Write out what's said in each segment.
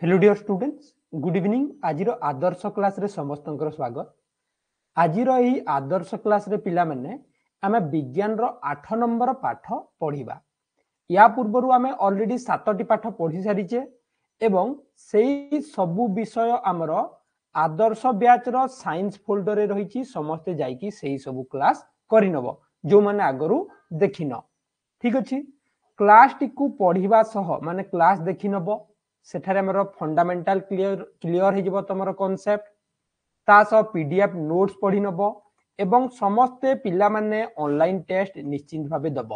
Hello dear students, good evening. ଆଜିର ଆଦର୍ଶ କ୍ଲାସରେ ସମସ୍ତଙ୍କର ସ୍ୱାଗତ। ଆଜିର ଏହି ଆଦର୍ଶ କ୍ଲାସରେ ପିଲାମାନେ ଆମେ ବିଜ୍ଞାନର 8 ନମ୍ବର ପାଠ ପଢ଼ିବା। ୟା ପୂର୍ବରୁ ଆମେ ଅଲରେଡି 7ଟି ପାଠ ପଢ଼ି ସାରିଛେ ଏବଂ ସେଇ ସବୁ ବିଷୟ ଆମର ଆଦର୍ଶ ବ୍ୟାଚର ସାଇନ୍ସ ଫୋଲ୍ଡରରେ ରହିଛି। ସମସ୍ତେ ଯାଇକି ସେଇ ସବୁ କ୍ଲାସ କରିନବ ଯେଉଁମାନେ ଆଗରୁ ଦେଖିନ। ଠିକ ଅଛି, କ୍ଲାସଟିକୁ ପଢ଼ିବା ସହ ମାନେ କ୍ଲାସ ଦେଖିନବ, ସେଠାରେ ଆମର ଫଣ୍ଡାମେଣ୍ଟାଲ କ୍ଲିୟର ହେଇଯିବ ତମର କନସେପ୍ଟ। ତା ସହ ପିଡିଏଫ ନୋଟ୍ସ ପଢି ନବ ଏବଂ ସମସ୍ତେ ପିଲାମାନେ ଅନଲାଇନ ଟେଷ୍ଟ ନିଶ୍ଚିନ୍ତ ଭାବେ ଦବ।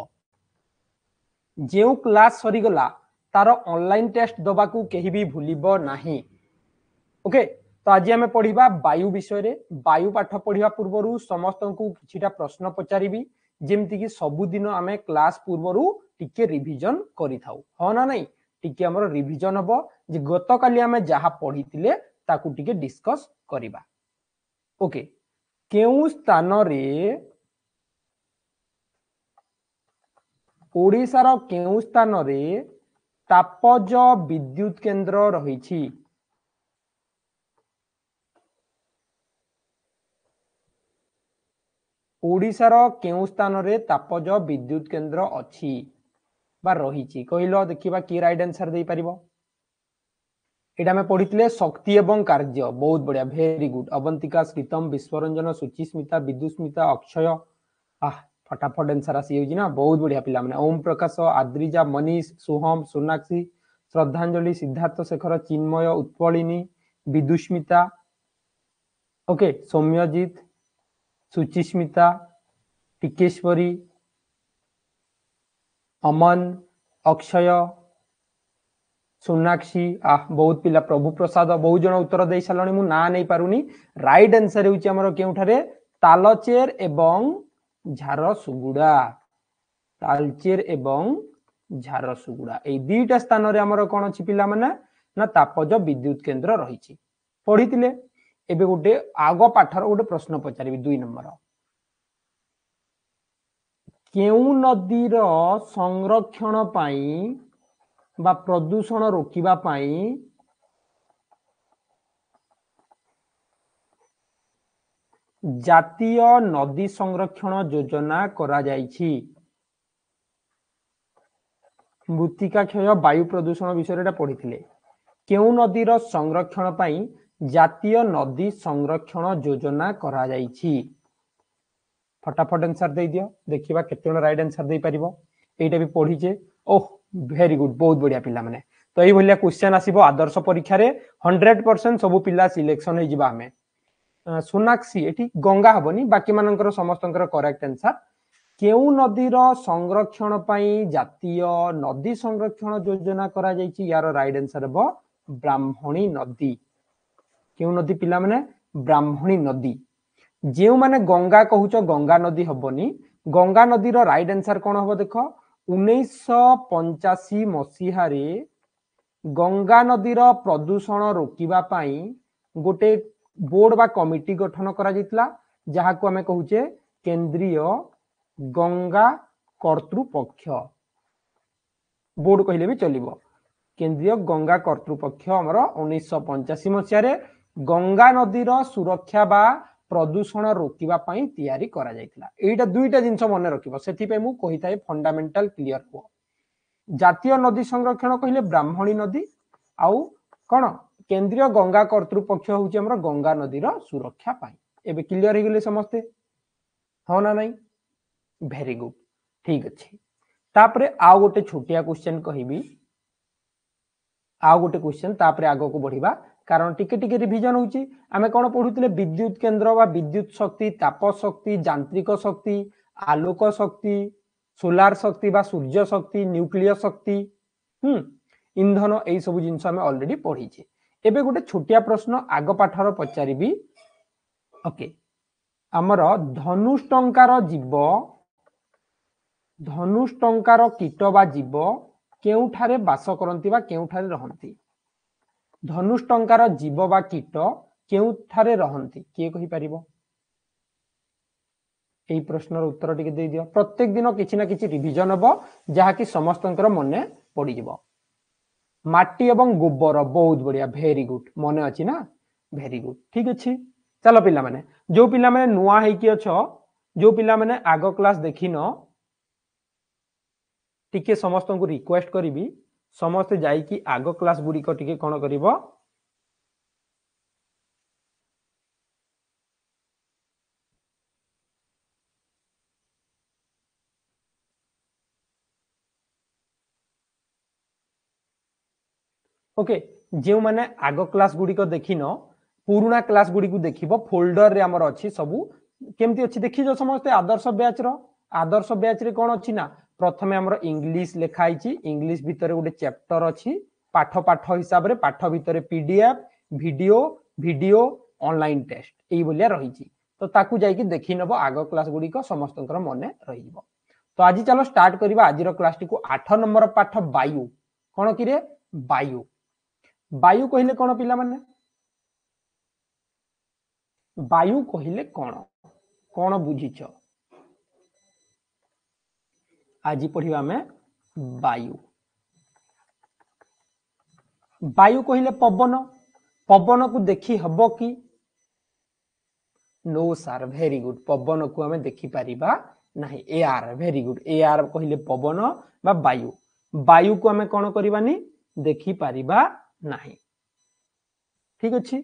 ଯେଉଁ କ୍ଲାସ ସରିଗଲା ତାର ଅନଲାଇନ ଟେଷ୍ଟ ଦବାକୁ କେହି ବି ଭୁଲିବ ନାହିଁ। ଓକେ, ତ ଆଜି ଆମେ ପଢିବା ବାୟୁ ବିଷୟରେ। ବାୟୁ ପାଠ ପଢିବା ପୂର୍ବରୁ ସମସ୍ତଙ୍କୁ କିଛିଟା ପ୍ରଶ୍ନ ପଚାରିବି, ଯେମିତିକି ସବୁଦିନ ଆମେ କ୍ଲାସ ପୂର୍ବରୁ ଟିକେ ରିଭିଜନ କରିଥାଉ, ହଁ ନା ନାଇଁ? ଟିକେ ଆମର ରିଭିଜନ ହବ ଯେ ଗତକାଲି ଆମେ ଯାହା ପଢିଥିଲେ ତାକୁ ଟିକେ ଡିସ୍କସ କରିବା। ଓକେ, କେଉଁ ସ୍ଥାନରେ ଓଡ଼ିଶାର କେଉଁ ସ୍ଥାନରେ ତାପଜ ବିଦ୍ୟୁତ କେନ୍ଦ୍ର ରହିଛି? ଓଡ଼ିଶାର କେଉଁ ସ୍ଥାନରେ ତାପଜ ବିଦ୍ୟୁତ କେନ୍ଦ୍ର ଅଛି ବା ରହିଛି କହିଲ ଦେଖିବା, କିଏ ରାଇଟ ଆନ୍ସର ଦେଇପାରିବ? ଏଇଟା ଆମେ ପଢିଥିଲେ ଶକ୍ତି ଏବଂ କାର୍ଯ୍ୟ। ବହୁତ ବଢିଆ, ଭେରି ଗୁଡ। ଅବନ୍ତିକା, ଶ୍ରୀତମ, ବିଶ୍ୱରଞ୍ଜନ, ସୁଚିସ୍ମିତା, ବିଦୁସ୍ମିତା, ଅକ୍ଷୟ। ଆହ, ଫଟାଫଟ ଆନ୍ସର ଆସିଯାଉଛି ନା, ବହୁତ ବଢିଆ ପିଲାମାନେ। ଓମ ପ୍ରକାଶ, ଆଦ୍ରିଜା, ମନୀଷ, ସୁହମ, ସୋନାକ୍ଷୀ, ଶ୍ରଦ୍ଧାଞ୍ଜଳି, ସିଦ୍ଧାର୍ଥ ଶେଖର, ଚିନ୍ମୟ, ଉତ୍ପଳିନୀ, ବିଦୁସ୍ମିତା, ଓକେ, ସୌମ୍ୟଜିତ, ସୁଚିସ୍ମିତା, ଟିକେଶ୍ୱରୀ, ଅମନ, ଅକ୍ଷୟ, ସୋନାକ୍ଷୀ। ଆହ, ବହୁତ ପିଲା, ପ୍ରଭୁ ପ୍ରସାଦ, ବହୁତ ଜଣ ଉତ୍ତର ଦେଇ ସାରିଲଣି, ମୁଁ ନାଁ ନେଇ ପାରୁନି। ରାଇଟ ଆନ୍ସର ହେଉଛି ଆମର କେଉଁଠାରେ? ତାଲଚେର ଏବଂ ଝାରସୁଗୁଡା। ତାଲଚେର ଏବଂ ଝାରସୁଗୁଡା, ଏଇ ଦିଟା ସ୍ଥାନରେ ଆମର କଣ ଅଛି ପିଲାମାନେ ନା ତାପଜ ବିଦ୍ୟୁତ କେନ୍ଦ୍ର ରହିଛି। ପଢିଥିଲେ। ଏବେ ଗୋଟେ ଆଗ ପାଠର ଗୋଟେ ପ୍ରଶ୍ନ ପଚାରିବି, 2 ନମ୍ବର। କେଉଁ ନଦୀର ସଂରକ୍ଷଣ ପାଇଁ ବା ପ୍ରଦୂଷଣ ରୋକିବା ପାଇଁ ଜାତୀୟ ନଦୀ ସଂରକ୍ଷଣ ଯୋଜନା କରାଯାଇଛି? ମୃତ୍ତିକା କ୍ଷୟ, ବାୟୁ ପ୍ରଦୂଷଣ ବିଷୟରେ ଏଟା ପଢିଥିଲେ। କେଉଁ ନଦୀର ସଂରକ୍ଷଣ ପାଇଁ ଜାତୀୟ ନଦୀ ସଂରକ୍ଷଣ ଯୋଜନା କରାଯାଇଛି? ଫଟାଫଟ ଆନ୍ସର ଦେଇଦିଅ, ଦେଖିବା କେତେ ଜଣ ରାଇଟ ଆନ୍ସର ଦେଇପାରିବ। ଏଇଟା ବି ପଢିଛେ। ଓହ, ଭେରି ଗୁଡ, ବହୁତ ବଢିଆ ପିଲାମାନେ। ତ ଏଇଭଳିଆ କ୍ୱେଶ୍ଚନ ଆସିବ ଆଦର୍ଶ ପରୀକ୍ଷାରେ, 100% ସବୁ ପିଲା ସିଲେକ୍ସନ ହେଇଯିବା ଆମେ। ସୋନାକ୍ଷୀ, ଏଠି ଗଙ୍ଗା ହବନି, ବାକି ମାନଙ୍କର ସମସ୍ତଙ୍କର କରେକ୍ଟ ଆନ୍ସର। କେଉଁ ନଦୀର ସଂରକ୍ଷଣ ପାଇଁ ଜାତୀୟ ନଦୀ ସଂରକ୍ଷଣ ଯୋଜନା କରାଯାଇଛି? ୟାର ରାଇଟ ଆନ୍ସର ହେବ ବ୍ରାହ୍ମଣୀ ନଦୀ। କେଉଁ ନଦୀ ପିଲାମାନେ? ବ୍ରାହ୍ମଣୀ ନଦୀ। ଯେଉଁମାନେ ଗଙ୍ଗା କହୁଛ, ଗଙ୍ଗା ନଦୀ ହବନି। ଗଙ୍ଗା ନଦୀର ରାଇଟ ଆନ୍ସର କଣ ହବ ଦେଖ, 1985 ମସିହାରେ ଗଙ୍ଗା ନଦୀର ପ୍ରଦୂଷଣ ରୋକିବା ପାଇଁ ଗୋଟେ ବୋର୍ଡ ବା କମିଟି ଗଠନ କରାଯାଇଥିଲା, ଯାହାକୁ ଆମେ କହୁଛେ କେନ୍ଦ୍ରୀୟ ଗଙ୍ଗା କର୍ତ୍ତୃପକ୍ଷ। ବୋର୍ଡ କହିଲେ ବି ଚଲିବ। କେନ୍ଦ୍ରୀୟ ଗଙ୍ଗା କର୍ତ୍ତୃପକ୍ଷ ଆମର 1985 ମସିହାରେ ଗଙ୍ଗା ନଦୀର ସୁରକ୍ଷା ବା ପ୍ରଦୂଷଣ ରୋକିବା ପାଇଁ ତିଆରି କରାଯାଇଥିଲା। ଏଇଟା ଦୁଇଟା ଜିନିଷ ମନେ ରଖିବ, ସେଥିପାଇଁ ମୁଁ କହିଥାଏ ଫଣ୍ଡାମେଣ୍ଟାଲ କ୍ଲିୟର ହୁଅ। ଜାତୀୟ ନଦୀ ସଂରକ୍ଷଣ କହିଲେ ବ୍ରାହ୍ମଣୀ ନଦୀ, ଆଉ କଣ କେନ୍ଦ୍ରୀୟ ଗଙ୍ଗା କର୍ତ୍ତୃପକ୍ଷ ହଉଛି ଆମର ଗଙ୍ଗା ନଦୀର ସୁରକ୍ଷା ପାଇଁ। ଏବେ କ୍ଲିୟର ହେଇଗଲେ ସମସ୍ତେ, ହଁ ନା ନାଇଁ? ଭେରି ଗୁଡ, ଠିକ ଅଛି। ତାପରେ ଆଉ ଗୋଟେ ଛୋଟିଆ କ୍ୱେଶ୍ଚନ କହିବି, ଆଉ ଗୋଟେ କ୍ୱେଶ୍ଚନ, ତାପରେ ଆଗକୁ ବଢିବା, କାରଣ ଟିକେ ଟିକେ ରିଭିଜନ ହଉଛି। ଆମେ କଣ ପଢୁଥିଲେ? ବିଦ୍ୟୁତ କେନ୍ଦ୍ର ବା ବିଦ୍ୟୁତ ଶକ୍ତି, ତାପ ଶକ୍ତି, ଯାନ୍ତ୍ରିକ ଶକ୍ତି, ଆଲୋକ ଶକ୍ତି, ସୋଲାର ଶକ୍ତି ବା ସୂର୍ଯ୍ୟ ଶକ୍ତି, ନ୍ୟୁକ୍ଲିୟ ଶକ୍ତି, ଇନ୍ଧନ, ଏଇ ସବୁ ଜିନିଷ ଆମେ ଅଲରେଡି ପଢିଛେ। ଏବେ ଗୋଟେ ଛୋଟିଆ ପ୍ରଶ୍ନ ଆଗ ପାଠର ପଚାରିବି। ଓକେ, ଆମର ଧନୁଷ୍ଟଙ୍କାର ଜୀବ, ଧନୁଷ୍ଟଙ୍କାର କୀଟ ବା ଜୀବ କେଉଁଠାରେ ବାସ କରନ୍ତି ବା କେଉଁଠାରେ ରହନ୍ତି? ଧନୁଷ୍ଟଙ୍କାର ଜୀବ ବା କୀଟ କେଉଁଠାରେ ରହନ୍ତି, କିଏ କହିପାରିବ? ଏଇ ପ୍ରଶ୍ନର ଉତ୍ତର ଟିକେ ଦେଇଦିଅ। ପ୍ରତ୍ୟେକ ଦିନ କିଛି ନା କିଛି ରିଭିଜନ ହବ, ଯାହାକି ସମସ୍ତଙ୍କର ମନେ ପଡିଯିବ। ମାଟି ଏବଂ ଗୋବର। ବହୁତ ବଢିଆ, ଭେରି ଗୁଡ, ମନେ ଅଛି ନା? ଭେରି ଗୁଡ, ଠିକ ଅଛି। ଚାଲ ପିଲାମାନେ, ଯୋଉ ପିଲାମାନେ ନୂଆ ହେଇକି ଅଛ, ଯୋଉ ପିଲାମାନେ ଆଗ କ୍ଲାସ ଦେଖିନ, ଟିକେ ସମସ୍ତଙ୍କୁ ରିକ୍ୱେଷ୍ଟ କରିବି ସମସ୍ତେ ଯାଇକି ଆଗ କ୍ଲାସ ଗୁଡ଼ିକ ଟିକେ କଣ କରିବ, ଓକେ। ଯେଉଁମାନେ ଆଗ କ୍ଲାସ ଗୁଡ଼ିକ ଦେଖିନ, ପୁରୁଣା କ୍ଲାସ ଗୁଡ଼ିକୁ ଦେଖିବ, ଫୋଲ୍ଡରରେ ଆମର ଅଛି ସବୁ। କେମିତି ଅଛି ଦେଖିଛ ସମସ୍ତେ? ଆଦର୍ଶ ବ୍ୟାଚ୍ ର, ଆଦର୍ଶ ବ୍ୟାଚ୍ ରେ କଣ ଅଛି ନା, ପ୍ରଥମେ ଆମର ଇଂଲିଶ ଲେଖା ହେଇଛି, ଇଂଲିଶ ଭିତରେ ଗୋଟେ ଚାପ୍ଟର ଅଛି, ପାଠ ପାଠ ହିସାବରେ, ପାଠ ଭିତରେ PDF, video, video, online test ଏଇଭଳିଆ ରହିଛି। ତ ତାକୁ ଯାଇକି ଦେଖି ନବ ଆଗ କ୍ଲାସ ଗୁଡ଼ିକ, ସମସ୍ତଙ୍କର ମନେ ରହିଯିବ। ତ ଆଜି ଚାଲ ଷ୍ଟାର୍ଟ କରିବା ଆଜିର କ୍ଲାସଟିକୁ। 8 ନମ୍ବର ପାଠ ବାୟୁ। କଣ କିରେ? ବାୟୁ। ବାୟୁ କହିଲେ କଣ ପିଲାମାନେ? ବାୟୁ କହିଲେ କଣ, କଣ ବୁଝିଛ? ଆଜି ପଢିବା ଆମେ ବାୟୁ। ବାୟୁ କହିଲେ ପବନ। ପବନକୁ ଦେଖି ହବ କି? ନୋ ସାର୍, ଭେରି ଗୁଡ, ପବନକୁ ଆମେ ଦେଖିପାରିବା ନାହିଁ। ଏୟାର, ଭେରି ଗୁଡ, ଏୟାର କହିଲେ ପବନ ବା ବାୟୁ। ବାୟୁକୁ ଆମେ କଣ କରିବାନି? ଦେଖିପାରିବା ନାହିଁ। ଠିକ ଅଛି।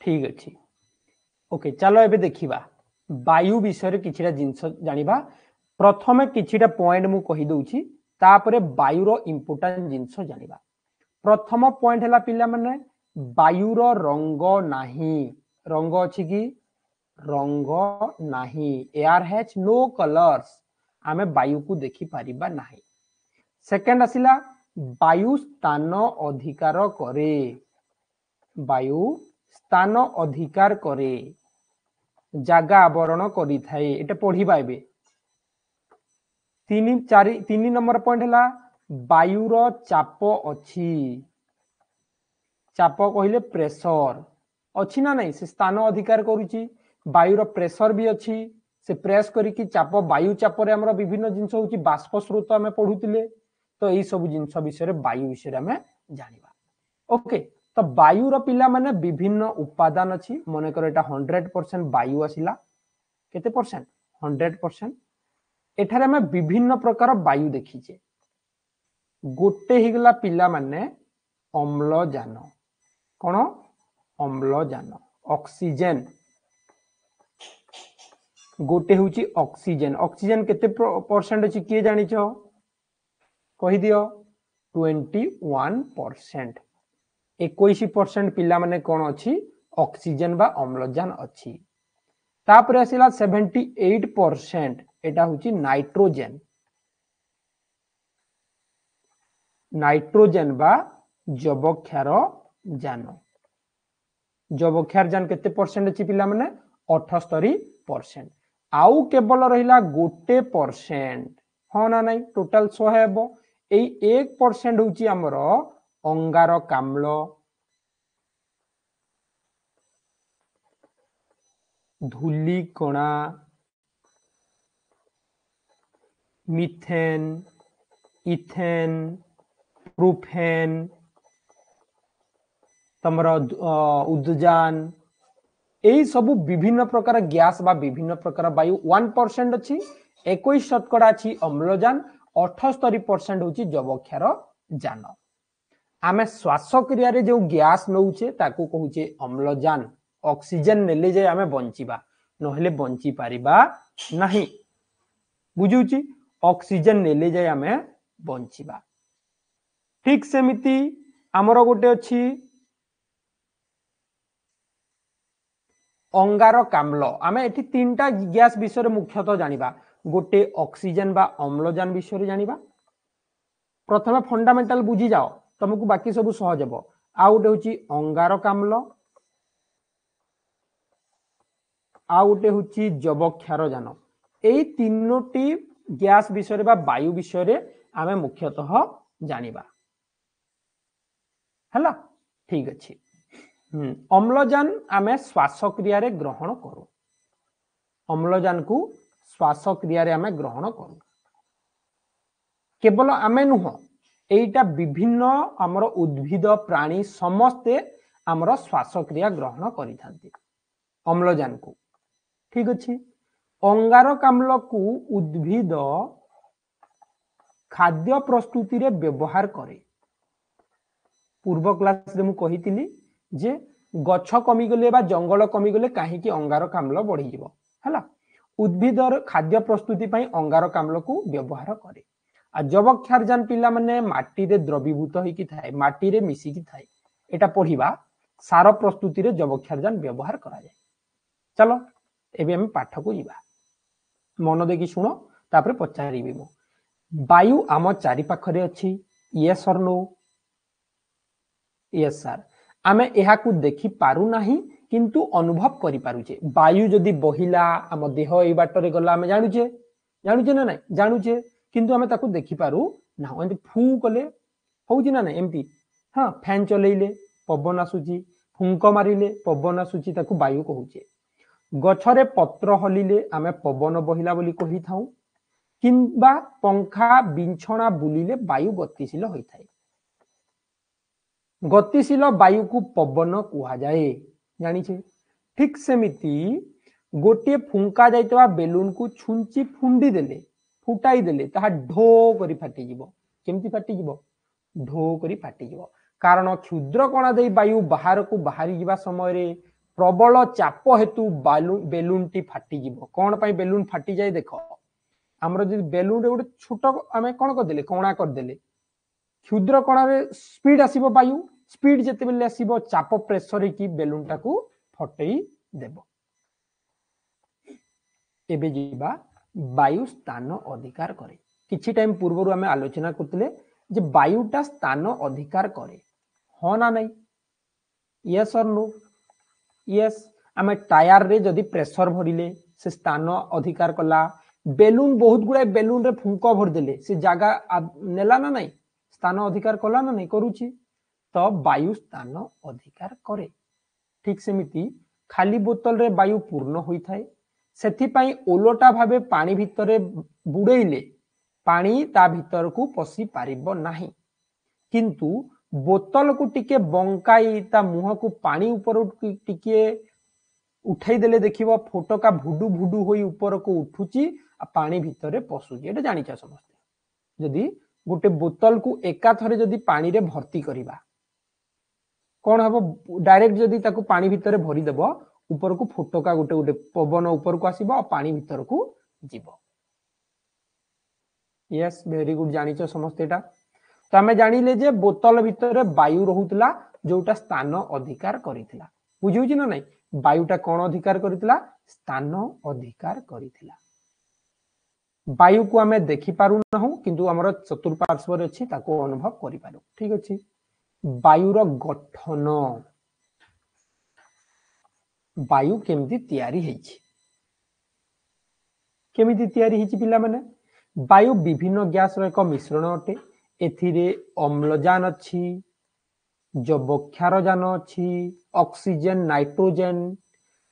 ଠିକ ଅଛି, ଓକେ। ଚାଲ ଏବେ ଦେଖିବା ବାୟୁ ବିଷୟରେ କିଛିଟା ଜିନିଷ ଜାଣିବା। ପ୍ରଥମେ କିଛିଟା ପଏଣ୍ଟ ମୁଁ କହିଦଉଛି, ତାପରେ ବାୟୁର ଇମ୍ପୋର୍ଟାଣ୍ଟ ଜିନିଷ ଜାଣିବା। ପ୍ରଥମ ପଏଣ୍ଟ ହେଲା ପିଲାମାନେ, ବାୟୁର ରଙ୍ଗ ନାହିଁ। ରଙ୍ଗ ଅଛି କି? ରଙ୍ଗ ନାହିଁ। ଏୟାର ହ୍ୟାଜ୍ ନୋ କଲର୍ସ, ଆମେ ବାୟୁକୁ ଦେଖିପାରିବା ନାହିଁ। ସେକେଣ୍ଡ ଆସିଲା ବାୟୁ ସ୍ଥାନ ଅଧିକାର କରେ। ବାୟୁ ସ୍ଥାନ ଅଧିକାର କରେ, ଜାଗା ଆବରଣ କରିଥାଏ। ଏଟା ପଢିବା ଏବେ। 3 4 3 ନମ୍ବର ପଏଣ୍ଟ ହେଲା ବାୟୁର ଚାପ ଅଛି। ଚାପ କହିଲେ ପ୍ରେସର ଅଛି ନା ନାଇଁ? ସେ ସ୍ଥାନ ଅଧିକାର କରୁଛି, ବାୟୁର ପ୍ରେସର ବି ଅଛି, ସେ ପ୍ରେସ କରିକି ଚାପ, ବାୟୁ ଚାପରେ ଆମର ବିଭିନ୍ନ ଜିନିଷ ହଉଛି, ବାଷ୍ପ ସ୍ରୋତ ଆମେ ପଢୁଥିଲେ। ତ ଏଇ ସବୁ ଜିନିଷ ବିଷୟରେ, ବାୟୁ ବିଷୟରେ ଆମେ ଜାଣିବା। ଓକେ, ତ ବାୟୁର ପିଲାମାନେ ବିଭିନ୍ନ ଉପାଦାନ ଅଛି। ମନେକର ଏଟା 100% ବାୟୁ ଆସିଲା, କେତେ ପରସେଣ୍ଟ? 100%। ଏଠାରେ ଆମେ ବିଭିନ୍ନ ପ୍ରକାର ବାୟୁ ଦେଖିଛେ। ଗୋଟେ ହେଇଗଲା ପିଲାମାନେ ଅମ୍ଳଜାନ। କଣ? ଅମ୍ଳଜାନ, ଅକ୍ସିଜେନ। ଗୋଟେ ହଉଛି ଅକ୍ସିଜେନ। ଅକ୍ସିଜେନ କେତେ ପରସେଣ୍ଟ ଅଛି କିଏ ଜାଣିଛ? କହିଦିଅ। 21%, 21% ପିଲାମାନେ କଣ ଅଛି? ଅକ୍ସିଜେନ ବା ଅମ୍ଳଜାନ ଅଛି। ତାପରେ ଆସିଲା 78%, ଏଟା ହଉଛି ନାଇଟ୍ରୋଜେନ। ନାଇଟ୍ରୋଜେନ ବା ଯବକ୍ଷାର ଯାନ। ଯବକ୍ଷାର ଯାନ କେତେ ପରସେଣ୍ଟ ଅଛି ପିଲାମାନେ? 78%। ଆଉ କେବଳ ରହିଲା 1%, ହଁ ନା ନାଇଁ? ଟୋଟାଲ 100 ହେବ। ଏଇ 1% ହଉଛି ଆମର ଅଙ୍ଗାରକାମ୍ଳ, ଧୂଳିକଣା, ମିଥେନ, ଇଥେନ, ପ୍ରୋଫେନ, ତମର ଉଦଜାନ, ଏଇ ସବୁ ବିଭିନ୍ନ ପ୍ରକାର ଗ୍ୟାସ ବା ବିଭିନ୍ନ ପ୍ରକାର ବାୟୁ 1% ଅଛି। 21 ଶତକଡ଼ା ଅଛି ଅମ୍ଳଜାନ, 78% ହଉଛି ଯବକ୍ଷାର ଯାନ। ଆମେ ଶ୍ୱାସକ୍ରିୟାରେ ଯୋଉ ଗ୍ୟାସ ନଉଛେ ତାକୁ କହୁଛେ ଅମ୍ଳଜାନ। ଅକ୍ସିଜେନ ନେଲେ ଯାଇ ଆମେ ବଞ୍ଚିବା, ନହେଲେ ବଞ୍ଚି ପାରିବା ନାହିଁ। ବୁଝୁଛି? ଅକ୍ସିଜେନ ନେଲେ ଯାଇ ଆମେ ବଞ୍ଚିବା। ଠିକ ସେମିତି ଆମର ଗୋଟେ ଅଛି ଅଙ୍ଗାରକାମ୍ଳ। ଆମେ ଏଠି 3ଟା ଗ୍ୟାସ ବିଷୟରେ ମୁଖ୍ୟତଃ ଜାଣିବା। ଗୋଟେ ଅକ୍ସିଜେନ ବା ଅମ୍ଳଜାନ ବିଷୟରେ ଜାଣିବା। ପ୍ରଥମେ ଫଣ୍ଡାମେଣ୍ଟାଲ ବୁଝିଯାଅ, ତମକୁ ବାକି ସବୁ ସହଜ ହେବ। ଆଉ ଗୋଟେ ହଉଛି ଅଙ୍ଗାରକାମ୍ଳ, ଆଉ ଗୋଟେ ହଉଛି ଯବକ୍ଷାରଜାନ। ଏଇ ତିନୋଟି ଗ୍ୟାସ ବିଷୟରେ ବା ବାୟୁ ବିଷୟରେ ଆମେ ମୁଖ୍ୟତଃ ଜାଣିବା। ହେଲା, ଠିକ ଅଛି। ଅମ୍ଳଜାନ ଆମେ ଶ୍ୱାସକ୍ରିୟାରେ ଗ୍ରହଣ କରୁ। ଅମ୍ଳଜାନକୁ ଶ୍ୱାସକ୍ରିୟାରେ ଆମେ ଗ୍ରହଣ କରୁ। କେବଳ ଆମେ ନୁହଁ, ଏଇଟା ବିଭିନ୍ନ ଆମର ଉଦ୍ଭିଦ ପ୍ରାଣୀ ସମସ୍ତେ ଆମର ଶ୍ୱାସକ୍ରିୟା ଗ୍ରହଣ କରିଥାନ୍ତି ଅମ୍ଳଜାନକୁ। ଠିକ ଅଛି। ଅଙ୍ଗାରକାମ୍ଳକୁ ଉଦ୍ଭିଦ ଖାଦ୍ୟ ପ୍ରସ୍ତୁତିରେ ବ୍ୟବହାର କରେ। ପୂର୍ବ କ୍ଲାସରେ ମୁଁ କହିଥିଲି ଯେ ଗଛ କମିଗଲେ ବା ଜଙ୍ଗଲ କମିଗଲେ କାହିଁକି ଅଙ୍ଗାରକାମ୍ଳ ବଢିଯିବ। ହେଲା, ଉଦ୍ଭିଦର ଖାଦ୍ୟ ପ୍ରସ୍ତୁତି ପାଇଁ ଅଙ୍ଗାରକାମ୍ଳକୁ ବ୍ୟବହାର କରେ। ଆଉ ଯବକ୍ଷାରଜାନ ପିଲାମାନେ ମାଟିରେ ଦ୍ରବୀଭୂତ ହେଇକି ଥାଏ, ମାଟିରେ ମିଶିକି ଥାଏ। ଏଟା ପଢିବା, ସାର ପ୍ରସ୍ତୁତିରେ ଯବକ୍ଷାରଜାନ ବ୍ୟବହାର କରାଯାଏ। ଚାଲ ଏବେ ଆମେ ପାଠକୁ ଯିବା, ମନ ଦେଇକି ଶୁଣ, ତାପରେ ପଚାରିବି ମୁଁ। ବାୟୁ ଆମ ଚାରିପାଖରେ ଅଛି, ୟେସ୍ ଅର୍ ନୋ? Yes sir. ଆମେ ଏହାକୁ ଦେଖି ପାରୁନାହିଁ କିନ୍ତୁ ଅନୁଭବ କରିପାରୁଛେ। ବାୟୁ ଯଦି ବହିଲା ଆମ ଦେହ ଏଇ ବାଟରେ ଗଲା, ଆମେ ଜାଣୁଛେ, ଜାଣୁଛେ ନା ନାଇଁ? ଜାଣୁଛେ, କିନ୍ତୁ ଆମେ ତାକୁ ଦେଖିପାରୁ ନାହୁଁ। ଏମିତି ଫୁ କଲେ ହଉଛି ନା ନାଇଁ? ଏମିତି ହଁ, ଫ୍ୟାନ୍ ଚଲେଇଲେ ପବନ ଆସୁଛି, ଫୁଙ୍କ ମାରିଲେ ପବନ ଆସୁଛି, ତାକୁ ବାୟୁ କହୁଛେ। ଗଛରେ ପତ୍ର ହଲିଲେ ଆମେ ପବନ ବହିଲା ବୋଲି କହିଥାଉ, କିମ୍ବା ପଙ୍ଖା ବିଛଣା ବୁଲିଲେ ବାୟୁ ଗତିଶୀଳ ହୋଇଥାଏ। ଗତିଶୀଳ ବାୟୁକୁ ପବନ କୁହାଯାଏ, ଜାଣିଛେ। ଠିକ ସେମିତି ଗୋଟିଏ ଫୁଙ୍କା ଯାଇଥିବା ବେଲୁନକୁ ଛୁଞ୍ଚି ଫୁଣ୍ଡି ଦେଲେ, ଫୁଟାଇ ଦେଲେ ତାହା ଢୋ କରି ଫାଟିଯିବ। କେମିତି ଫାଟିଯିବ? ଢୋ କରି ଫାଟିଯିବ। କାରଣ କ୍ଷୁଦ୍ର କଣା ଦେଇ ବାୟୁ ବାହାରକୁ ବାହାରି ଯିବା ସମୟରେ ପ୍ରବଳ ଚାପ ହେତୁ ବେଲୁନଟି ଫାଟିଯିବ। କଣ ପାଇଁ ବେଲୁନ ଫାଟିଯାଏ ଦେଖ, ଆମର ଯଦି ବେଲୁନରେ ଗୋଟେ ଛୋଟ ଆମେ କଣ କରିଦେଲେ, କଣା କରିଦେଲେ, କ୍ଷୁଦ୍ର କଣାରେ ସ୍ପିଡ ଆସିବ, ବାୟୁ ସ୍ପିଡ ଯେତେବେଳେ ଆସିବ ଚାପ ପ୍ରେସର ହେଇକି ବେଲୁନଟାକୁ ଫଟେଇ ଦେବ। ଏବେ ଯିବା ବାୟୁ ସ୍ଥାନ ଅଧିକାର କରେ। କିଛି ଟାଇମ ପୂର୍ବରୁ ଆମେ ଆଲୋଚନା କରୁଥିଲେ ଯେ ବାୟୁଟା ସ୍ଥାନ ଅଧିକାର କରେ, ହଁ ନା ନାଇଁ? ୟେସ୍ ଅର୍ ନୋ? ୟେସ୍। ଆମେ ଟାୟାରରେ ଯଦି ପ୍ରେସର ଭରିଲେ ସେ ସ୍ଥାନ ଅଧିକାର କଲା। ବେଲୁନ ବହୁତ ଗୁଡାଏ ବେଲୁନରେ ଫୁଙ୍କ ଭରିଦେଲେ ସେ ଜାଗା ନେଲା ନା ନାଇଁ? ସ୍ଥାନ ଅଧିକାର କଲା ନା ନାଇଁ? କରୁଛି। ତ ବାୟୁ ସ୍ଥାନ ଅଧିକାର କରେ। ଠିକ ସେମିତି ଖାଲି ବୋତଲରେ ବାୟୁ ପୂର୍ଣ୍ଣ ହୋଇଥାଏ, ସେଥିପାଇଁ ଓଲଟା ଭାବେ ପାଣି ଭିତରେ ବୁଡେଇଲେ ପାଣି ତା ଭିତରକୁ ପଶି ପାରିବ ନାହିଁ। କିନ୍ତୁ ବୋତଲକୁ ଟିକେ ବଙ୍କାଇ ତା ମୁହଁକୁ ପାଣି ଉପରକୁ ଟିକେ ଉଠେଇ ଦେଲେ ଦେଖିବ ଫୋଟକା ଭୁଡୁ ଭୁଡୁ ହୋଇ ଉପରକୁ ଉଠୁଛି ଆଉ ପାଣି ଭିତରେ ପଶୁଛି। ଏଇଟା ଜାଣିଛ ସମସ୍ତେ। ଯଦି ଗୋଟେ ବୋତଲକୁ ଏକାଥରେ ଯଦି ପାଣିରେ ଭର୍ତ୍ତି କରିବା କଣ ହବ? ଡାଇରେକ୍ଟ ଯଦି ତାକୁ ପାଣି ଭିତରେ ଭରିଦେବ, ଉପରକୁ ଫୋଟକା ଗୋଟେ ଗୋଟେ ପବନ ଉପରକୁ ଆସିବ ଆଉ ପାଣି ଭିତରକୁ ଯିବ। ୟେସ୍, ଭେରି ଗୁଡ୍, ଜାଣିଛ ସମସ୍ତେ ଏଇଟା। ତ ଆମେ ଜାଣିଲେ ଯେ ବୋତଲ ଭିତରେ ବାୟୁ ରହୁଥିଲା ଯୋଉଟା ସ୍ଥାନ ଅଧିକାର କରିଥିଲା। ବୁଝିହଉଛି ନା ନାଇଁ? ବାୟୁଟା କଣ ଅଧିକାର କରିଥିଲା? ସ୍ଥାନ ଅଧିକାର କରିଥିଲା। ବାୟୁକୁ ଆମେ ଦେଖିପାରୁନାହୁଁ କିନ୍ତୁ ଆମର ଚତୁଃପାର୍ଶ୍ୱରେ ଅଛି, ତାକୁ ଅନୁଭବ କରିପାରୁ। ଠିକ ଅଛି। ବାୟୁର ଗଠନ, ବାୟୁ କେମିତି ତିଆରି ହେଇଛି, କେମିତି ତିଆରି ହେଇଛି ପିଲାମାନେ? ବାୟୁ ବିଭିନ୍ନ ଗ୍ୟାସର ଏକ ମିଶ୍ରଣ ଅଟେ। ଏଥିରେ ଅମ୍ଳଜାନ ଅଛି, ଯବକ୍ଷାରଜାନ ଅଛି, ଅକ୍ସିଜେନ, ନାଇଟ୍ରୋଜେନ,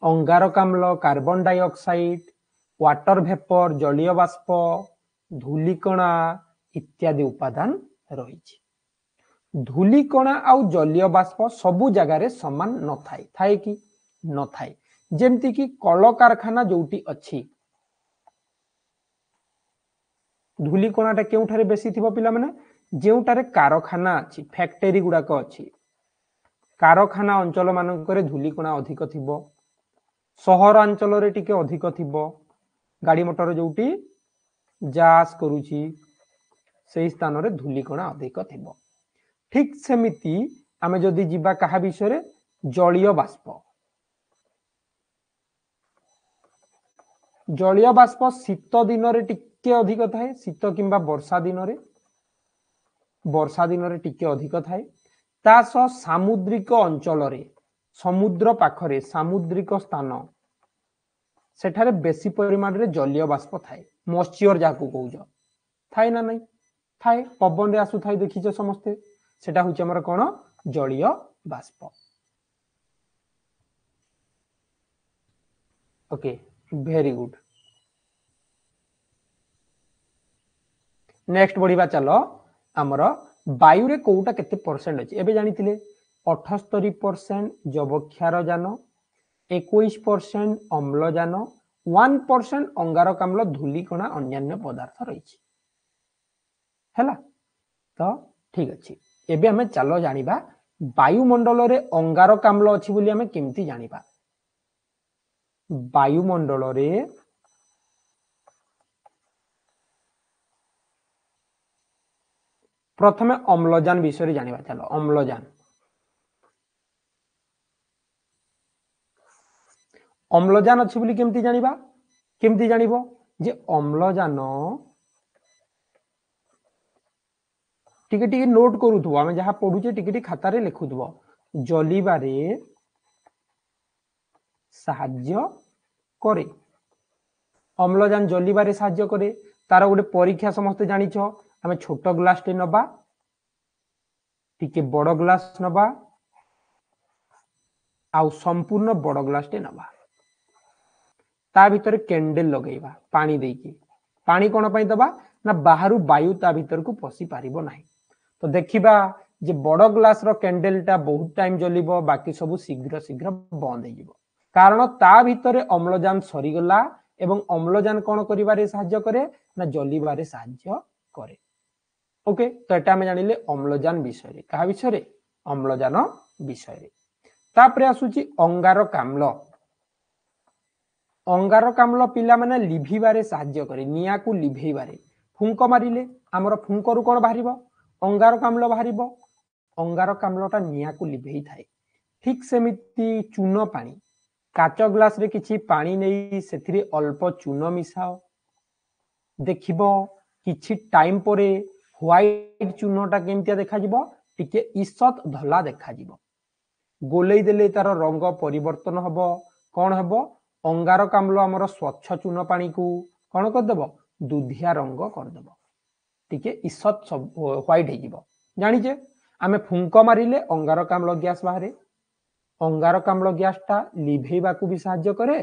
ଅଙ୍ଗାରକାମ୍ଳ, କାର୍ବନ ଡାଇଅକ୍ସାଇଡ, ୱାଟର ଭେପର, ଜଳୀୟ ବାଷ୍ପ, ଧୂଳିକଣା ଇତ୍ୟାଦି ଉପାଦାନ ରହିଛି। ଧୂଳିକଣା ଆଉ ଜଳୀୟ ବାଷ୍ପ ସବୁ ଜାଗାରେ ସମାନ ନଥାଏ, ଥାଏ କି ନଥାଏ? ଯେମିତି କି କଳକାରଖାନା ଯୋଉଠି ଅଛି, ଧୂଳିକଣାଟା କେଉଁଠାରେ ବେଶୀ ଥିବ ପିଲାମାନେ? ଯେଉଁଠାରେ କାରଖାନା ଅଛି, ଫ୍ୟାକ୍ଟରୀ ଗୁଡାକ ଅଛି, କାରଖାନା ଅଞ୍ଚଳ ମାନଙ୍କରେ ଧୂଳିକଣା ଅଧିକ ଥିବ। ସହରାଞ୍ଚଳରେ ଟିକେ ଅଧିକ ଥିବ, ଗାଡି ମଟର ଯୋଉଠି ଯାଆସ କରୁଛି ସେଇ ସ୍ଥାନରେ ଧୂଳିକଣା ଅଧିକ ଥିବ। ଠିକ ସେମିତି ଆମେ ଯଦି ଯିବା କାହା ବିଷୟରେ, ଜଳୀୟ ବାଷ୍ପ। ଜଳୀୟ ବାଷ୍ପ ଶୀତ ଦିନରେ ଟିକେ ଅଧିକ ଥାଏ, ଶୀତ କିମ୍ବା ବର୍ଷା ଦିନରେ, ବର୍ଷା ଦିନରେ ଟିକେ ଅଧିକ ଥାଏ। ତା ସହ ସାମୁଦ୍ରିକ ଅଞ୍ଚଳରେ, ସମୁଦ୍ର ପାଖରେ, ସାମୁଦ୍ରିକ ସ୍ଥାନ, ସେଠାରେ ବେଶୀ ପରିମାଣରେ ଜଳୀୟ ବାଷ୍ପ ଥାଏ, ମଏଶ୍ଚର ଯାହାକୁ କହୁଛ, ଥାଏ ନା ନାଇଁ? ଥାଏ, ପବନରେ ଆସୁଥାଏ, ଦେଖିଛ ସମସ୍ତେ। ସେଟା ହଉଛି ଆମର କଣ? ଜଳୀୟ ବାଷ୍ପ। Okay, very good. Next ବଢିବା ଚାଲ, ଆମର ବାୟୁରେ କୋଉଟା କେତେ ପରସେଣ୍ଟ ଅଛି। ଏବେ ଜାଣିଥିଲେ 78% ଯବକ୍ଷାରଜାନ, 21% ଅମ୍ଳଜାନ, 1% ଅଙ୍ଗାରକାମ୍ଳ, ଧୂଳିକଣା, ଅନ୍ୟାନ୍ୟ ପଦାର୍ଥ ରହିଛି। ହେଲା ତ ଠିକ ଅଛି। ଏବେ ଆମେ ଚାଲ ଜାଣିବା ବାୟୁମଣ୍ଡଳରେ ଅଙ୍ଗାରକାମ୍ଳ ଅଛି ବୋଲି ଆମେ କେମିତି ଜାଣିବା। ବାୟୁମଣ୍ଡଳରେ ପ୍ରଥମେ ଅମ୍ଳଜାନ ବିଷୟରେ ଜାଣିବା। ଚାଲ ଅମ୍ଳଜାନ, ଅମ୍ଳଜାନ ଅଛି ବୋଲି କେମିତି ଜାଣିବା? କେମିତି ଜାଣିବ ଯେ ଅମ୍ଳଜାନ, ଟିକେ ଟିକେ ନୋଟ କରୁଥିବ, ଆମେ ଯାହା ପଢୁଛେ ଟିକେ ଟିକେ ଖାତାରେ ଲେଖୁଥିବ, ଜଲିବାରେ ସାହାଯ୍ୟ କରେ। ଅମ୍ଳଜାନ ଜଲିବାରେ ସାହାଯ୍ୟ କରେ। ତାର ଗୋଟେ ପରୀକ୍ଷା ସମସ୍ତେ ଜାଣିଛ, ଆମେ ଛୋଟ ଗ୍ଲାସଟେ ନବା, ଟିକେ ବଡ ଗ୍ଲାସ ନବା, ଆଉ ସମ୍ପୂର୍ଣ୍ଣ ବଡ ଗ୍ଲାସଟେ ନବା। ତା ଭିତରେ କ୍ୟାଣ୍ଡେଲ ଲଗେଇବା ପାଣି ଦେଇକି। ପାଣି କଣ ପାଇଁ ଦବା ନା ବାହାରୁ ବାୟୁ ତା ଭିତରକୁ ପଶି ପାରିବ ନାହିଁ। ତ ଦେଖିବା ଯେ ବଡ ଗ୍ଲାସର କ୍ୟାଣ୍ଡେଲଟା ବହୁତ ଟାଇମ ଜଲିବ, ବାକି ସବୁ ଶୀଘ୍ର ଶୀଘ୍ର ବନ୍ଦ ହେଇଯିବ, କାରଣ ତା ଭିତରେ ଅମ୍ଳଜାନ ସରିଗଲା। ଏବଂ ଅମ୍ଳଜାନ କଣ କରିବାରେ ସାହାଯ୍ୟ କରେ ନା ଜଲିବାରେ ସାହାଯ୍ୟ କରେ। ଓକେ, ତ ଏଟା ଆମେ ଜାଣିଲେ ଅମ୍ଳଜାନ ବିଷୟରେ। କାହା ବିଷୟରେ? ଅମ୍ଳଜାନ ବିଷୟରେ। ତାପରେ ଆସୁଛି ଅଙ୍ଗାରକାମ୍ଳ। ଅଙ୍ଗାରକାମ୍ଳ ପିଲାମାନେ ଲିଭିବାରେ ସାହାଯ୍ୟ କରେ, ନିଆଁକୁ ଲିଭେଇବାରେ। ଫୁଙ୍କ ମାରିଲେ ଆମର ଫୁଙ୍କରୁ କଣ ବାହାରିବ? ଅଙ୍ଗାରକାମ୍ଳ ବାହାରିବ। ଅଙ୍ଗାରକାମ୍ଳଟା ନିଆଁକୁ ଲିଭେଇଥାଏ। ଠିକ ସେମିତି ଚୂନ ପାଣି, କାଚ ଗ୍ଲାସରେ କିଛି ପାଣି ନେଇ ସେଥିରେ ଅଳ୍ପ ଚୂନ ମିଶାଅ, ଦେଖିବ କିଛି ଟାଇମ ପରେ ହ୍ୱାଇଟ ଚୂନଟା କେମିତିଆ ଦେଖାଯିବ? ଟିକେ ଈଷତ ଧଲା ଦେଖାଯିବ। ଗୋଲେଇ ଦେଲେ ତାର ରଙ୍ଗ ପରିବର୍ତ୍ତନ ହବ। କଣ ହବ? ଅଙ୍ଗାରକାମ୍ଳ ଆମର ସ୍ୱଚ୍ଛ ଚୂନ ପାଣିକୁ କଣ କରିଦେବ? ଦୁଧିଆ ରଙ୍ଗ କରିଦେବ, ଟିକେ ଈଷତ ହ୍ୱାଇଟ ହେଇଯିବ। ଜାଣିଛେ ଆମେ ଫୁଙ୍କ ମାରିଲେ ଅଙ୍ଗାରକାମ୍ଳ ଗ୍ୟାସ ବାହାରେ। ଅଙ୍ଗାରକାମ୍ଳ ଗ୍ୟାସଟା ଲିଭେଇବାକୁ ବି ସାହାଯ୍ୟ କରେ,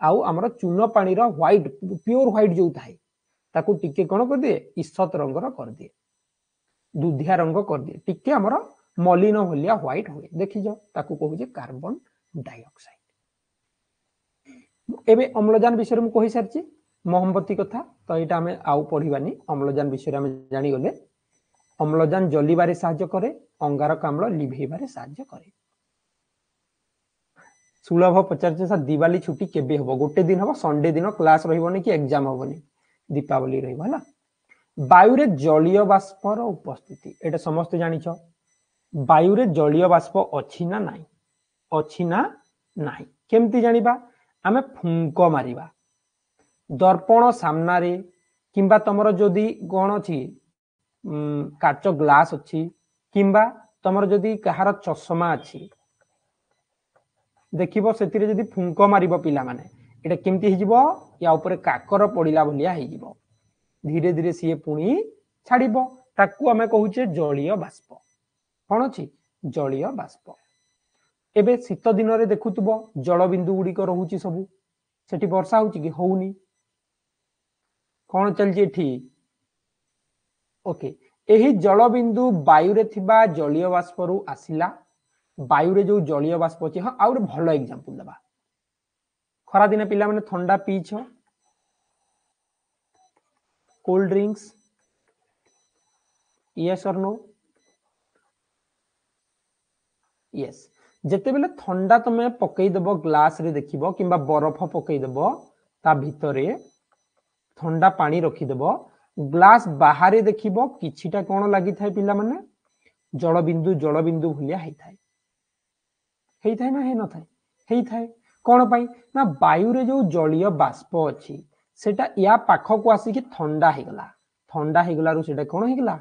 ଆଉ ଆମର ଚୂନ ପାଣିର ହ୍ୱାଇଟ, ପିଓର ହ୍ୱାଇଟ ଯୋଉ ଥାଏ ତାକୁ ଟିକେ କଣ କରିଦିଏ? ଈଷତ ରଙ୍ଗର କରିଦିଏ, ଦୁଧିଆ ରଙ୍ଗ କରିଦିଏ, ଟିକେ ଆମର ମଲିନ ଭଳିଆ ହ୍ୱାଇଟ ହୁଏ। ଦେଖିଛ, ତାକୁ କହୁଛେ କାର୍ବନ ଡାଇଅକ୍ସାଇଡ। ଏବେ ଅମ୍ଳଜାନ ବିଷୟରେ ମୁଁ କହିସାରିଛି, ମହମବତୀ କଥା ତ ଏଇଟା ଆମେ ଆଉ ପଢିବାନି। ଅମ୍ଳଜାନ ବିଷୟରେ ଆମେ ଜାଣିଗଲେ। ଅମ୍ଳଜାନ ଜଲିବାରେ ସାହାଯ୍ୟ କରେ, ଅଙ୍ଗାରକାମ୍ଳ ଲିଭେଇବାରେ ସାହାଯ୍ୟ କରେ। ସୁଲଭ ପଚାରୁଛି ସାର୍ ଦିୱାଲି ଛୁଟି କେବେ ହବ? ଗୋଟେ ଦିନ ହବ, ସଣ୍ଡେ ଦିନ କ୍ଲାସ ରହିବନି କି ଏକ୍ଜାମ ହବନି, ଦୀପାବଳି ରହିବ। ହେଲା, ବାୟୁରେ ଜଳୀୟ ବାଷ୍ପର ଉପସ୍ଥିତି, ଏଇଟା ସମସ୍ତେ ଜାଣିଛ। ବାୟୁରେ ଜଳୀୟ ବାଷ୍ପ ଅଛି ନା ନାହିଁ? ଅଛି ନା ନାହିଁ? କେମିତି ଜାଣିବା? ଆମେ ଫୁଙ୍କ ମାରିବା ଦର୍ପଣ ସାମ୍ନାରେ, କିମ୍ବା ତମର ଯଦି କଣ ଅଛି କାଚ ଗ୍ଲାସ ଅଛି, କିମ୍ବା ତମର ଯଦି କାହାର ଚଷମା ଅଛି, ଦେଖିବ ସେଥିରେ ଯଦି ଫୁଙ୍କ ମାରିବ ପିଲାମାନେ, ଏଇଟା କେମିତି ହେଇଯିବ? ୟା ଉପରେ କାକର ପଡିଲା ଭଳିଆ ହେଇଯିବ। ଧୀରେ ଧୀରେ ସିଏ ପୁଣି ଛାଡିବ। ତାକୁ ଆମେ କହୁଛେ ଜଳୀୟ ବାଷ୍ପ। କଣ ଅଛି? ଜଳୀୟ ବାଷ୍ପ। ଏବେ ଶୀତ ଦିନରେ ଦେଖୁଥିବ ଜଳବିନ୍ଦୁ ଗୁଡିକ ରହୁଛି ସବୁ, ସେଠି ବର୍ଷା ହଉଛି କି? ହଉନି। କଣ ଚାଲିଛି ଏଠି? ଓକେ, ଏହି ଜଳବିନ୍ଦୁ ବାୟୁରେ ଥିବା ଜଳୀୟ ବାଷ୍ପରୁ ଆସିଲା। ବାୟୁରେ ଯୋଉ ଜଳୀୟ ବାଷ୍ପ ଅଛି, ହଁ ଆଉ ଗୋଟେ ଭଲ ଏକ୍ଜାମ୍ପଲ ଦେବା। ଖରାଦିନେ ପିଲାମାନେ ଥଣ୍ଡା ପିଇଛ, କୋଲ୍ଡ ଡ୍ରିଙ୍କସ, ୟେସ୍ ଅର୍ ନୋ? ୟେସ୍। ଯେତେବେଳେ ଥଣ୍ଡା ତମେ ପକେଇଦବ ଗ୍ଲାସରେ ଦେଖିବ, କିମ୍ବା ବରଫ ପକେଇଦବ ତା ଭିତରେ, ଥଣ୍ଡା ପାଣି ରଖିଦବ, ଗ୍ଲାସ ବାହାରେ ଦେଖିବ କିଛିଟା କଣ ଲାଗିଥାଏ ପିଲାମାନେ? ଜଳବିନ୍ଦୁ, ଜଳବିନ୍ଦୁ ଭଳିଆ ହେଇଥାଏ। ହେଇଥାଏ ନା ହେଇନଥାଏ? ହେଇଥାଏ। କଣ ପାଇଁ ନା ବାୟୁରେ ଯୋଉ ଜଳୀୟ ବାଷ୍ପ ଅଛି ସେଟା ୟା ପାଖକୁ ଆସିକି ଥଣ୍ଡା ହେଇଗଲା। ଥଣ୍ଡା ହେଇଗଲାରୁ ସେଟା କଣ ହେଇଗଲା?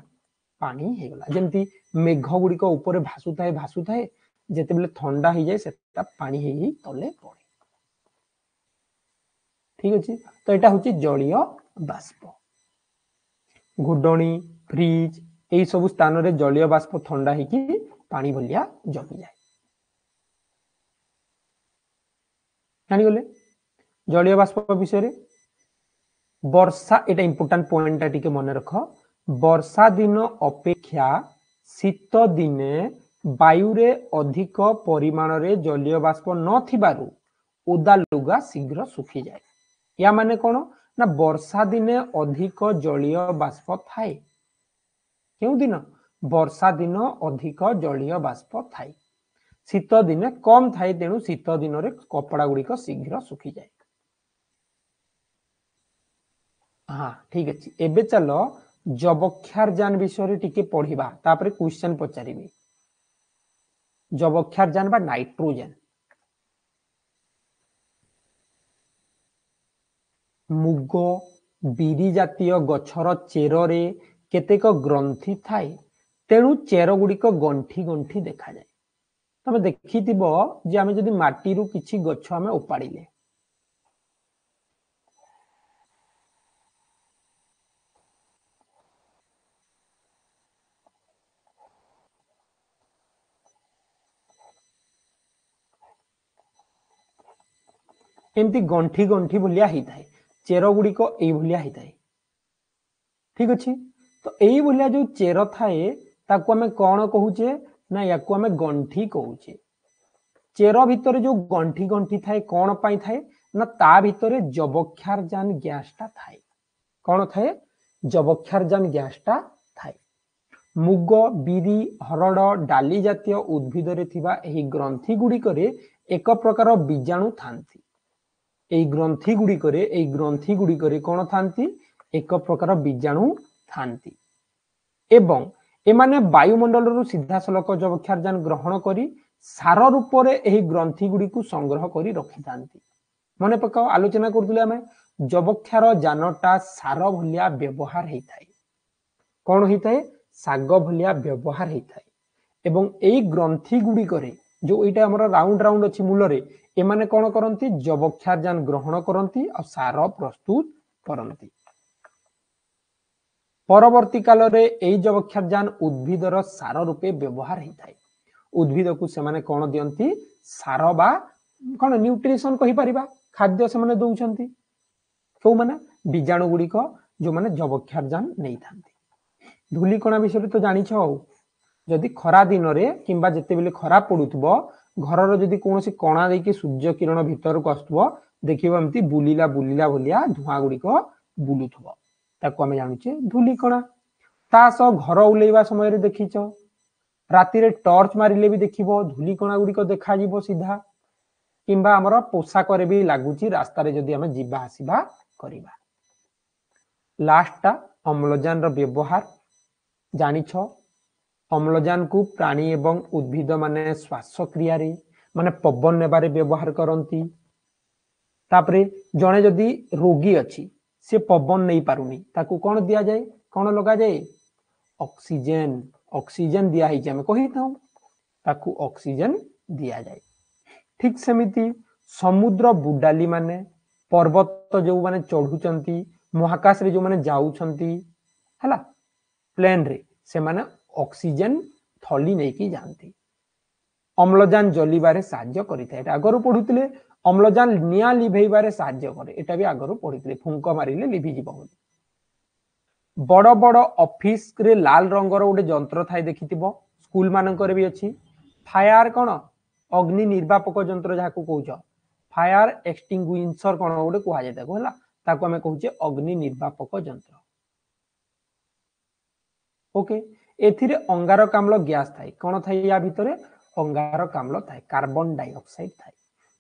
ପାଣି ହେଇଗଲା। ଯେମିତି ମେଘ ଗୁଡ଼ିକ ଉପରେ ଭାସୁଥାଏ ଭାସୁଥାଏ, ଯେତେବେଳେ ଥଣ୍ଡା ହେଇଯାଏ ସେଟା ପାଣି ହେଇ ତଲେ ପଡେ। ଠିକ ଅଛି, ତ ଏଇଟା ହଉଛି ଜଳୀୟ ବାଷ୍ପ। ଘୋଡଣୀ, ଫ୍ରିଜ ଏଇ ସବୁ ସ୍ଥାନରେ ଜଳୀୟ ବାଷ୍ପ ଥଣ୍ଡା ହେଇକି ପାଣି ଭଳିଆ ଜମିଯାଏ। ଜାଣିଗଲେ ଜଳୀୟ ବାଷ୍ପ ବିଷୟରେ। ବର୍ଷା, ଏଇଟା ଇମ୍ପୋର୍ଟାଣ୍ଟ ପଏଣ୍ଟଟା ଟିକେ ମନେ ରଖ। ବର୍ଷା ଦିନ ଅପେକ୍ଷା ଶୀତ ଦିନେ ବାୟୁରେ ଅଧିକ ପରିମାଣରେ ଜଳୀୟ ବାଷ୍ପ ନଥିବାରୁ ଓଦା ଲୁଗା ଶୀଘ୍ର ଶୁଖିଯାଏ। ୟା ମାନେ କଣ ନା ବର୍ଷା ଦିନେ ଅଧିକ ଜଳୀୟ ବାଷ୍ପ ଥାଏ। କେଉଁ ଦିନ? ବର୍ଷା ଦିନ ଅଧିକ ଜଳୀୟ ବାଷ୍ପ ଥାଏ, ଶୀତ ଦିନେ କମ ଥାଏ, ତେଣୁ ଶୀତ ଦିନରେ କପଡ଼ା ଗୁଡ଼ିକ ଶୀଘ୍ର ଶୁଖିଯାଏ। ହଁ ଠିକ ଅଛି, ଏବେ ଚାଲ ଯବକ୍ଷାରଜାନ ବିଷୟରେ ଟିକେ ପଢିବା, ତାପରେ କ୍ୱେଶ୍ଚନ ପଚାରିବି। ଯବକ୍ଷାରଜାନ ବା ନାଇଟ୍ରୋଜେନ। ମୁଗ, ବିରି ଜାତୀୟ ଗଛର ଚେରରେ କେତେକ ଗ୍ରନ୍ଥି ଥାଏ, ତେଣୁ ଚେର ଗୁଡ଼ିକ ଗଣ୍ଠି ଗଣ୍ଠି ଦେଖାଯାଏ। ତମେ ଦେଖିଥିବ ଯେ ଆମେ ଯଦି ମାଟିରୁ କିଛି ଗଛ ଆମେ ଉପାଡ଼ିଲେ, ଏମିତି ଗଣ୍ଠି ଗଣ୍ଠି ଭଳିଆ ହେଇଥାଏ, ଚେର ଗୁଡ଼ିକ ଏଇଭଳିଆ ହେଇଥାଏ। ଠିକ ଅଛି, ତ ଏଇଭଳିଆ ଯୋଉ ଚେର ଥାଏ ତାକୁ ଆମେ କଣ କହୁଛେ ନା ୟାକୁ ଆମେ ଗଣ୍ଠି କହୁଛେ। ଚେର ଭିତରେ ଯୋଉ ଗଣ୍ଠି ଗଣ୍ଠି ଥାଏ କଣ ପାଇଁ ଥାଏ ନା ତା ଭିତରେ ଯବକ୍ଷାରଜାନ ଗ୍ୟାସଟା ଥାଏ। କଣ ଥାଏ? ଯବକ୍ଷାରଜାନ ଗ୍ୟାସଟା ଥାଏ। ମୁଗ, ବିରି, ହରଡ଼, ଡାଲି ଜାତୀୟ ଉଦ୍ଭିଦରେ ଥିବା ଏହି ଗ୍ରନ୍ଥି ଗୁଡ଼ିକରେ ଏକ ପ୍ରକାର ବୀଜାଣୁ ଥାନ୍ତି। ଏଇ ଗ୍ରନ୍ଥି ଗୁଡ଼ିକରେ କଣ ଥାନ୍ତି? ଏକ ପ୍ରକାର ବୀଜାଣୁ ଥାନ୍ତି ଏବଂ ଏମାନେ ବାୟୁମଣ୍ଡଳରୁ ସିଧାସଳଖ ଯବକ୍ଷାରଜାନ ଗ୍ରହଣ କରି ସାର ରୂପରେ ଏହି ଗ୍ରନ୍ଥି ଗୁଡ଼ିକୁ ସଂଗ୍ରହ କରି ରଖିଥାନ୍ତି। ମନେ ପକାଅ, ଆଲୋଚନା କରୁଥିଲେ ଆମେ, ଯବକ୍ଷାର ଯାନଟା ସାର ଭଳିଆ ବ୍ୟବହାର ହେଇଥାଏ। କଣ ହେଇଥାଏ? ଶାଗ ଭଳିଆ ବ୍ୟବହାର ହେଇଥାଏ। ଏବଂ ଏଇ ଗ୍ରନ୍ଥି ଗୁଡ଼ିକରେ ଯୋଉ ଏଇଟା ଆମର ରାଉଣ୍ଡ ରାଉଣ୍ଡ ଅଛି ମୂଳରେ, ଏମାନେ କଣ କରନ୍ତି? ଯବକ୍ଷାରଜାନ ଗ୍ରହଣ କରନ୍ତି ଆଉ ସାର ପ୍ରସ୍ତୁତ କରନ୍ତି। ପରବର୍ତ୍ତୀ କାଳରେ ଏଇ ଯବକ୍ଷାରଜାନ ଉଦ୍ଭିଦର ସାର ରୂପେ ବ୍ୟବହାର ହେଇଥାଏ। ଉଦ୍ଭିଦକୁ ସେମାନେ କଣ ଦିଅନ୍ତି? ସାର ବା କଣ ନ୍ୟୁଟ୍ରିସନ କହିପାରିବା, ଖାଦ୍ୟ ସେମାନେ ଦଉଛନ୍ତି। କୋଉମାନେ? ବୀଜାଣୁ ଗୁଡ଼ିକ ଯୋଉମାନେ ଯବକ୍ଷାରଜାନ ନେଇଥାନ୍ତି। ଧୂଳିକଣା ବିଷୟରେ ତ ଜାଣିଛ। ଆଉ ଯଦି ଖରା ଦିନରେ କିମ୍ବା ଯେତେବେଳେ ଖରା ପଡୁଥିବ, ଘରର ଯଦି କୌଣସି କଣା ଦେଇକି ସୂର୍ଯ୍ୟ କିରଣ ଭିତରକୁ ଆସୁଥିବ, ଦେଖିବ ଏମିତି ବୁଲିଲା ବୁଲିଲା ଭଳିଆ ଧୂଆଁ ଗୁଡ଼ିକ ବୁଲୁଥିବ, ତାକୁ ଆମେ ଜାଣୁଛେ ଧୂଳିକଣା। ତା ସହ ଘର ଉଲେଇବା ସମୟରେ ଦେଖିଛ, ରାତିରେ ଟର୍ଚ୍ଚ ମାରିଲେ ବି ଦେଖିବ ଧୂଳିକଣା ଗୁଡ଼ିକ ଦେଖାଯିବ ସିଧା, କିମ୍ବା ଆମର ପୋଷାକରେ ବି ଲାଗୁଛି ରାସ୍ତାରେ ଯଦି ଆମେ ଯିବା ଆସିବା କରିବା। ଲାଷ୍ଟଟା ଅମ୍ଳଜାନର ବ୍ୟବହାର ଜାଣିଛ। ଅମ୍ଳଜାନକୁ ପ୍ରାଣୀ ଏବଂ ଉଦ୍ଭିଦ ମାନେ ଶ୍ୱାସକ୍ରିୟାରେ ମାନେ ପବନ ନେବାରେ ବ୍ୟବହାର କରନ୍ତି। ତାପରେ ଜଣେ ଯଦି ରୋଗୀ ଅଛି, ସେ ପବନ ନେଇ ପାରୁନି, ତାକୁ କଣ ଦିଆଯାଏ? କଣ ଲଗାଯାଏ? ଅକ୍ସିଜେନ। ଅକ୍ସିଜେନ ଦିଆ ହେଇଛି ଆମେ କହିଥାଉ, ତାକୁ ଅକ୍ସିଜେନ ଦିଆଯାଏ। ଠିକ ସେମିତି ସମୁଦ୍ର ବୁଡାଲି ମାନେ, ପର୍ବତ ଯୋଉମାନେ ଚଢୁଛନ୍ତି, ମହାକାଶରେ ଯୋଉମାନେ ଯାଉଛନ୍ତି ହେଲା ପ୍ଲେନରେ, ସେମାନେ ଅକ୍ସିଜେନ ଥଳି ନେଇକି ଯାଆନ୍ତି। ଅମ୍ଳଜାନ ଜଲିବାରେ ସାହାଯ୍ୟ କରିଥାଏ, ଏଟା ଆଗରୁ ପଢୁଥିଲେ। ଅମ୍ଳଜାନ ନିଆଁ ଲିଭେଇବାରେ ସାହାଯ୍ୟ କରେ, ଏଟା ବି ଆଗରୁ ପଢିଥିଲେ, ଫୁଙ୍କ ମାରିଲେ ଲିଭିଯିବ ବୋଲି। ବଡ ବଡ ଅଫିସରେ ଲାଲ ରଙ୍ଗର ଗୋଟେ ଯନ୍ତ୍ର ଥାଏ ଦେଖିଥିବ, ସ୍କୁଲ ମାନଙ୍କରେ ବି ଅଛି। ଫାୟାର କଣ? ଅଗ୍ନି ନିର୍ବାପକ ଯନ୍ତ୍ର ଯାହାକୁ କହୁଛ, ଫାୟାର ଏକ୍ସଟିଙ୍ଗୁଇସର କଣ ଗୋଟେ କୁହାଯାଏ ତାକୁ, ହେଲା, ତାକୁ ଆମେ କହୁଛେ ଅଗ୍ନି ନିର୍ବାପକ ଯନ୍ତ୍ର। ଓକେ, ଏଥିରେ ଅଙ୍ଗାରକାମ୍ଳ ଗ୍ୟାସ ଥାଏ। କଣ ଥାଏ ୟା ଭିତରେ? ଅଙ୍ଗାରକାମ୍ଳ ଥାଏ, କାର୍ବନ ଡାଇଅକ୍ସାଇଡ ଥାଏ।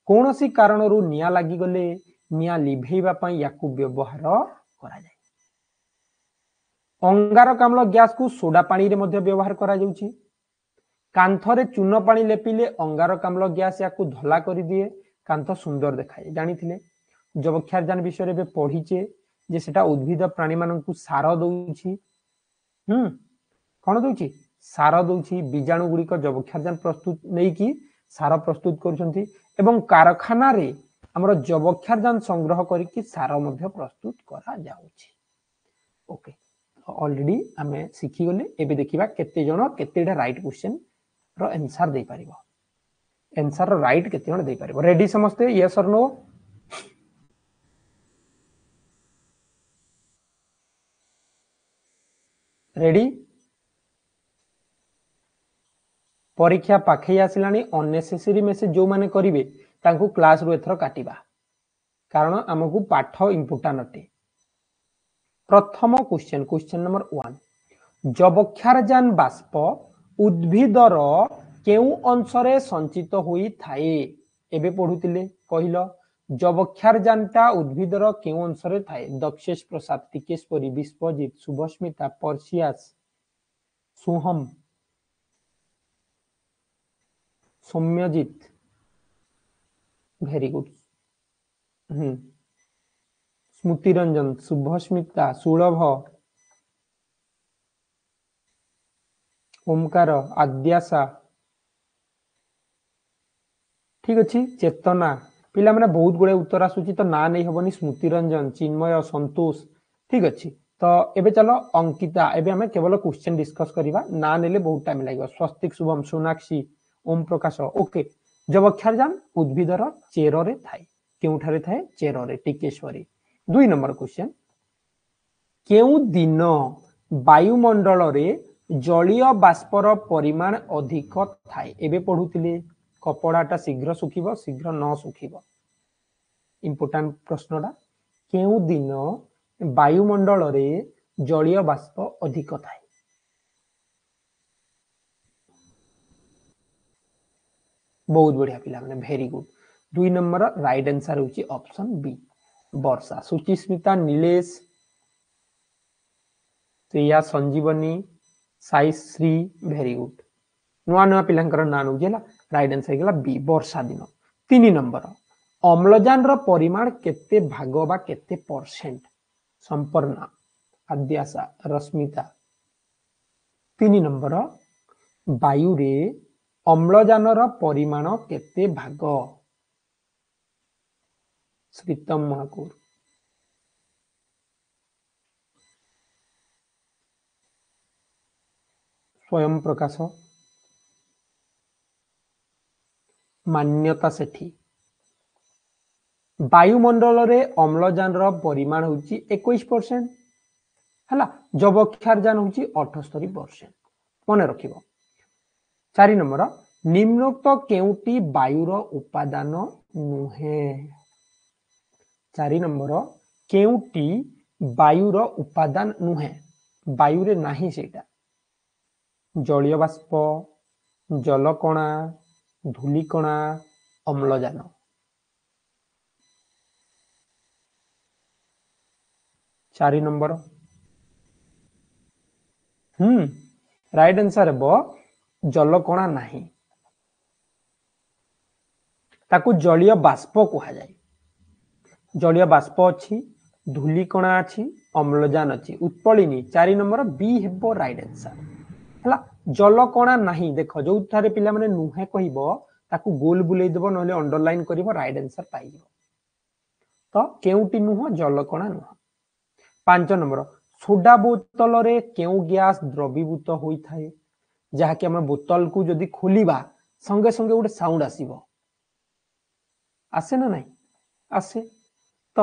କୌଣସି କାରଣରୁ ନିଆଁ ଲାଗିଗଲେ ନିଆଁ ଲିଭେଇବା ପାଇଁ ୟାକୁ ବ୍ୟବହାର କରାଯାଏ। ଅଙ୍ଗାରକାମ୍ଳ ଗ୍ୟାସକୁ ସୋଡା ପାଣିରେ ମଧ୍ୟ ବ୍ୟବହାର କରାଯାଉଛି। କାନ୍ଥରେ ଚୂନ ପାଣି ଲେପିଲେ ଅଙ୍ଗାରକାମ୍ଳ ଗ୍ୟାସ ୟାକୁ ଧଳା କରିଦିଏ, କାନ୍ଥ ସୁନ୍ଦର ଦେଖାଯାଏ। ଜାଣିଥିଲେ ଯବକ୍ଷାରଜାନ ବିଷୟରେ ଏବେ ପଢିଛେ ଯେ ସେଟା ଉଦ୍ଭିଦ ପ୍ରାଣୀମାନଙ୍କୁ ସାର ଦଉଛି। କଣ ଦଉଛି? ସାର ଦଉଛି। ବୀଜାଣୁ ଗୁଡ଼ିକ ଯବକ୍ଷାରଜାନ ପ୍ରସ୍ତୁତ ନେଇକି ସାର ପ୍ରସ୍ତୁତ କରୁଛନ୍ତି। ଏବଂ କାରଖାନାରେ ଆମର ଯବକ୍ଷାରଜାନ ସଂଗ୍ରହ କରିକି ସାର ମଧ୍ୟ ପ୍ରସ୍ତୁତ କରାଯାଉଛି। ଓକେ, ଅଲରେଡି ଆମେ ଶିଖିଗଲେ। ଏବେ ଦେଖିବା କେତେ ଜଣ କେତେଟା ରାଇଟ୍ କ୍ୱେଶ୍ଚନ ର ଆନ୍ସର ଦେଇପାରିବ, ଆନ୍ସର ରାଇଟ୍ କେତେ ଜଣ ଦେଇପାରିବ। ରେଡି ସମସ୍ତେ? ୟେସ୍ ଅର୍ ନୋ? ରେଡି? ପରୀକ୍ଷା ପାଖେଇ ଆସିଲାଣି, ଅନନେସେସରି ମେସେଜ ଯୋଉମାନେ କରିବେ ତାଙ୍କୁ କ୍ଲାସରୁ ଏଥର କାଟିବା, କାରଣ ଆମକୁ ପାଠ ଇମ୍ପୋର୍ଟାଣ୍ଟ ଅଟେ। ପ୍ରଥମ କ୍ୱେଶ୍ଚନ, କ୍ୱେଶ୍ଚନ ନମ୍ବର 1, ଯବକ୍ଷାରଜାନ ବାଷ୍ପ ଉଦ୍ଭିଦର କେଉଁ ଅଂଶରେ ସଞ୍ଚିତ ହୋଇଥାଏ? ଏବେ ପଢୁଥିଲେ, କହିଲ ଯବକ୍ଷାରଜାନଟା ଉଦ୍ଭିଦର କେଉଁ ଅଂଶରେ ଥାଏ? ଦକ୍ଷେଶ ପ୍ରସାଦ, ଟିକେଶ୍ୱରୀ, ବିଶ୍ୱଜିତ, ଶୁଭସ୍ମିତା, ପର୍ସିଆସ, ସୁହମ, ସୌମ୍ୟଜିତ, ଭେରି ଗୁଡ। ସ୍ମୃତିରଞ୍ଜନ, ଶୁଭସ୍ମିତା, ସୁଲଭ, ଓମକାର, ଆଦ୍ୟାସା, ଠିକ ଅଛି, ଚେତନା। ପିଲାମାନେ ବହୁତ ଗୁଡ଼ାଏ ଉତ୍ତର ଆସୁଛି, ତ ନାଁ ନେଇ ହବନି। ସ୍ମୃତିରଞ୍ଜନ, ଚିନ୍ମୟ, ସନ୍ତୋଷ, ଠିକ ଅଛି। ତ ଏବେ ଚାଲ ଅଙ୍କିତା, ଏବେ ଆମେ କେବଳ କ୍ୱେଶ୍ଚନ ଡିସ୍କସ କରିବା, ନାଁ ନେଲେ ବହୁତ ଟାଇମ ଲାଗିବ। ସ୍ୱସ୍ତିକ, ଶୁଭମ, ସୋନାକ୍ଷୀ, ଓମ ପ୍ରକାଶ। ଓକେ, ଯବକ୍ଷାରଜାନ ଉଦ୍ଭିଦର ଚେରରେ ଥାଏ। କେଉଁଠାରେ ଥାଏ? ଚେରରେ। ଟିକେଶ୍ୱରୀ। 2 ନମ୍ବର କ୍ୱେଶ୍ଚନ, କେଉଁ ଦିନ ବାୟୁମଣ୍ଡଳରେ ଜଳୀୟ ବାଷ୍ପର ପରିମାଣ ଅଧିକ ଥାଏ? ଏବେ ପଢୁଥିଲେ, କପଡ଼ାଟା ଶୀଘ୍ର ଶୁଖିବ, ଶୀଘ୍ର ନ ଶୁଖିବ, ଇମ୍ପୋର୍ଟାଣ୍ଟ ପ୍ରଶ୍ନଟା। କେଉଁ ଦିନ ବାୟୁମଣ୍ଡଳରେ ଜଳୀୟ ବାଷ୍ପ ଅଧିକ ଥାଏ? ବହୁତ ବଢିଆ ପିଲାମାନେ, very good. 2 number right answer ହେଉଛି option B, Barsha. Suchismita, Nilesh, Shreya, Sanjeevani, Saishree, very good. ନୂଆ ନୂଆ ପିଲାଙ୍କର ନାଁ ନଉଛି, ହେଲା। ରାଇଟ୍ ଆନ୍ସର ହେଇଗଲା ବି, ବର୍ଷା ଦିନ। 3 ନମ୍ବର, ଅମ୍ଳଜାନର ପରିମାଣ କେତେ ଭାଗ ବା କେତେ ପରସେଣ୍ଟ? ସମ୍ପର୍ଣ୍ଣା, ଆଦ୍ୟାସା, ରଶ୍ମିତା। 3 ନମ୍ବର, ବାୟୁରେ ଅମ୍ଳଜାନର ପରିମାଣ କେତେ ଭାଗ? ଶ୍ରୀତମ ମହାକୁର। ସ୍ୱୟଂ ପ୍ରକାଶ, ମାନ୍ୟତା ସେଠୀ। ବାୟୁମଣ୍ଡଳରେ ଅମ୍ଳଜାନର ପରିମାଣ ହେଉଛି 21%, ହେଲା। ଯବକ୍ଷାରଜାନ ହେଉଛି 78%, ମନେ ରଖିବ। 4 ନମ୍ବର, ନିମ୍ନୋକ୍ତ କେଉଁଟି ବାୟୁର ଉପାଦାନ ନୁହେଁ? 4 ନମ୍ବର, କେଉଁଟି ବାୟୁର ଉପାଦାନ ନୁହେଁ? ବାୟୁରେ ନାହିଁ ସେଇଟା। ଜଳୀୟ ବାଷ୍ପ, ଜଲକଣା, ଧୂଳିକଣା, ଅମ୍ଳଜାନ। 4 ନମ୍ବର, ରାଇଟ୍ ଆନ୍ସର ହେବ ଜଲକଣା ନାହିଁ, ତାକୁ ଜଳୀୟ ବାଷ୍ପ କୁହାଯାଏ। ଜଳୀୟ ବାଷ୍ପ ଅଛି, ଧୂଳିକଣା ଅଛି, ଅମ୍ଳଜାନ ଅଛି। ଉତ୍ପଳିନୀ, 4 ନମ୍ବର ବି ହେବ ରାଇଟ୍ ଆନ୍ସର, ହେଲା। ଜଲକଣା ନାହିଁ, ଦେଖ ଯୋଉଠାରେ ପିଲାମାନେ ନୁହେଁ କହିବ ତାକୁ ଗୋଲ ବୁଲେଇ ଦେବ, ନହେଲେ ଅଣ୍ଡରଲାଇନ କରିବ, ରାଇଟ୍ ଆନ୍ସର ପାଇଯିବ। ତ କେଉଁଟି ନୁହଁ? ଜଲକଣା ନୁହଁ। 5 ନମ୍ବର, ସୋଡା ବୋତଲରେ କେଉଁ ଗ୍ୟାସ ଦ୍ରବୀଭୂତ ହୋଇଥାଏ? ଯାହାକି ଆମେ ବୋତଲକୁ ଯଦି ଖୋଲିବା ସଙ୍ଗେ ସଙ୍ଗେ ଗୋଟେ ସାଉଣ୍ଡ ଆସିବ, ଆସେ ନା ନାହିଁ? ଆସେ। ତ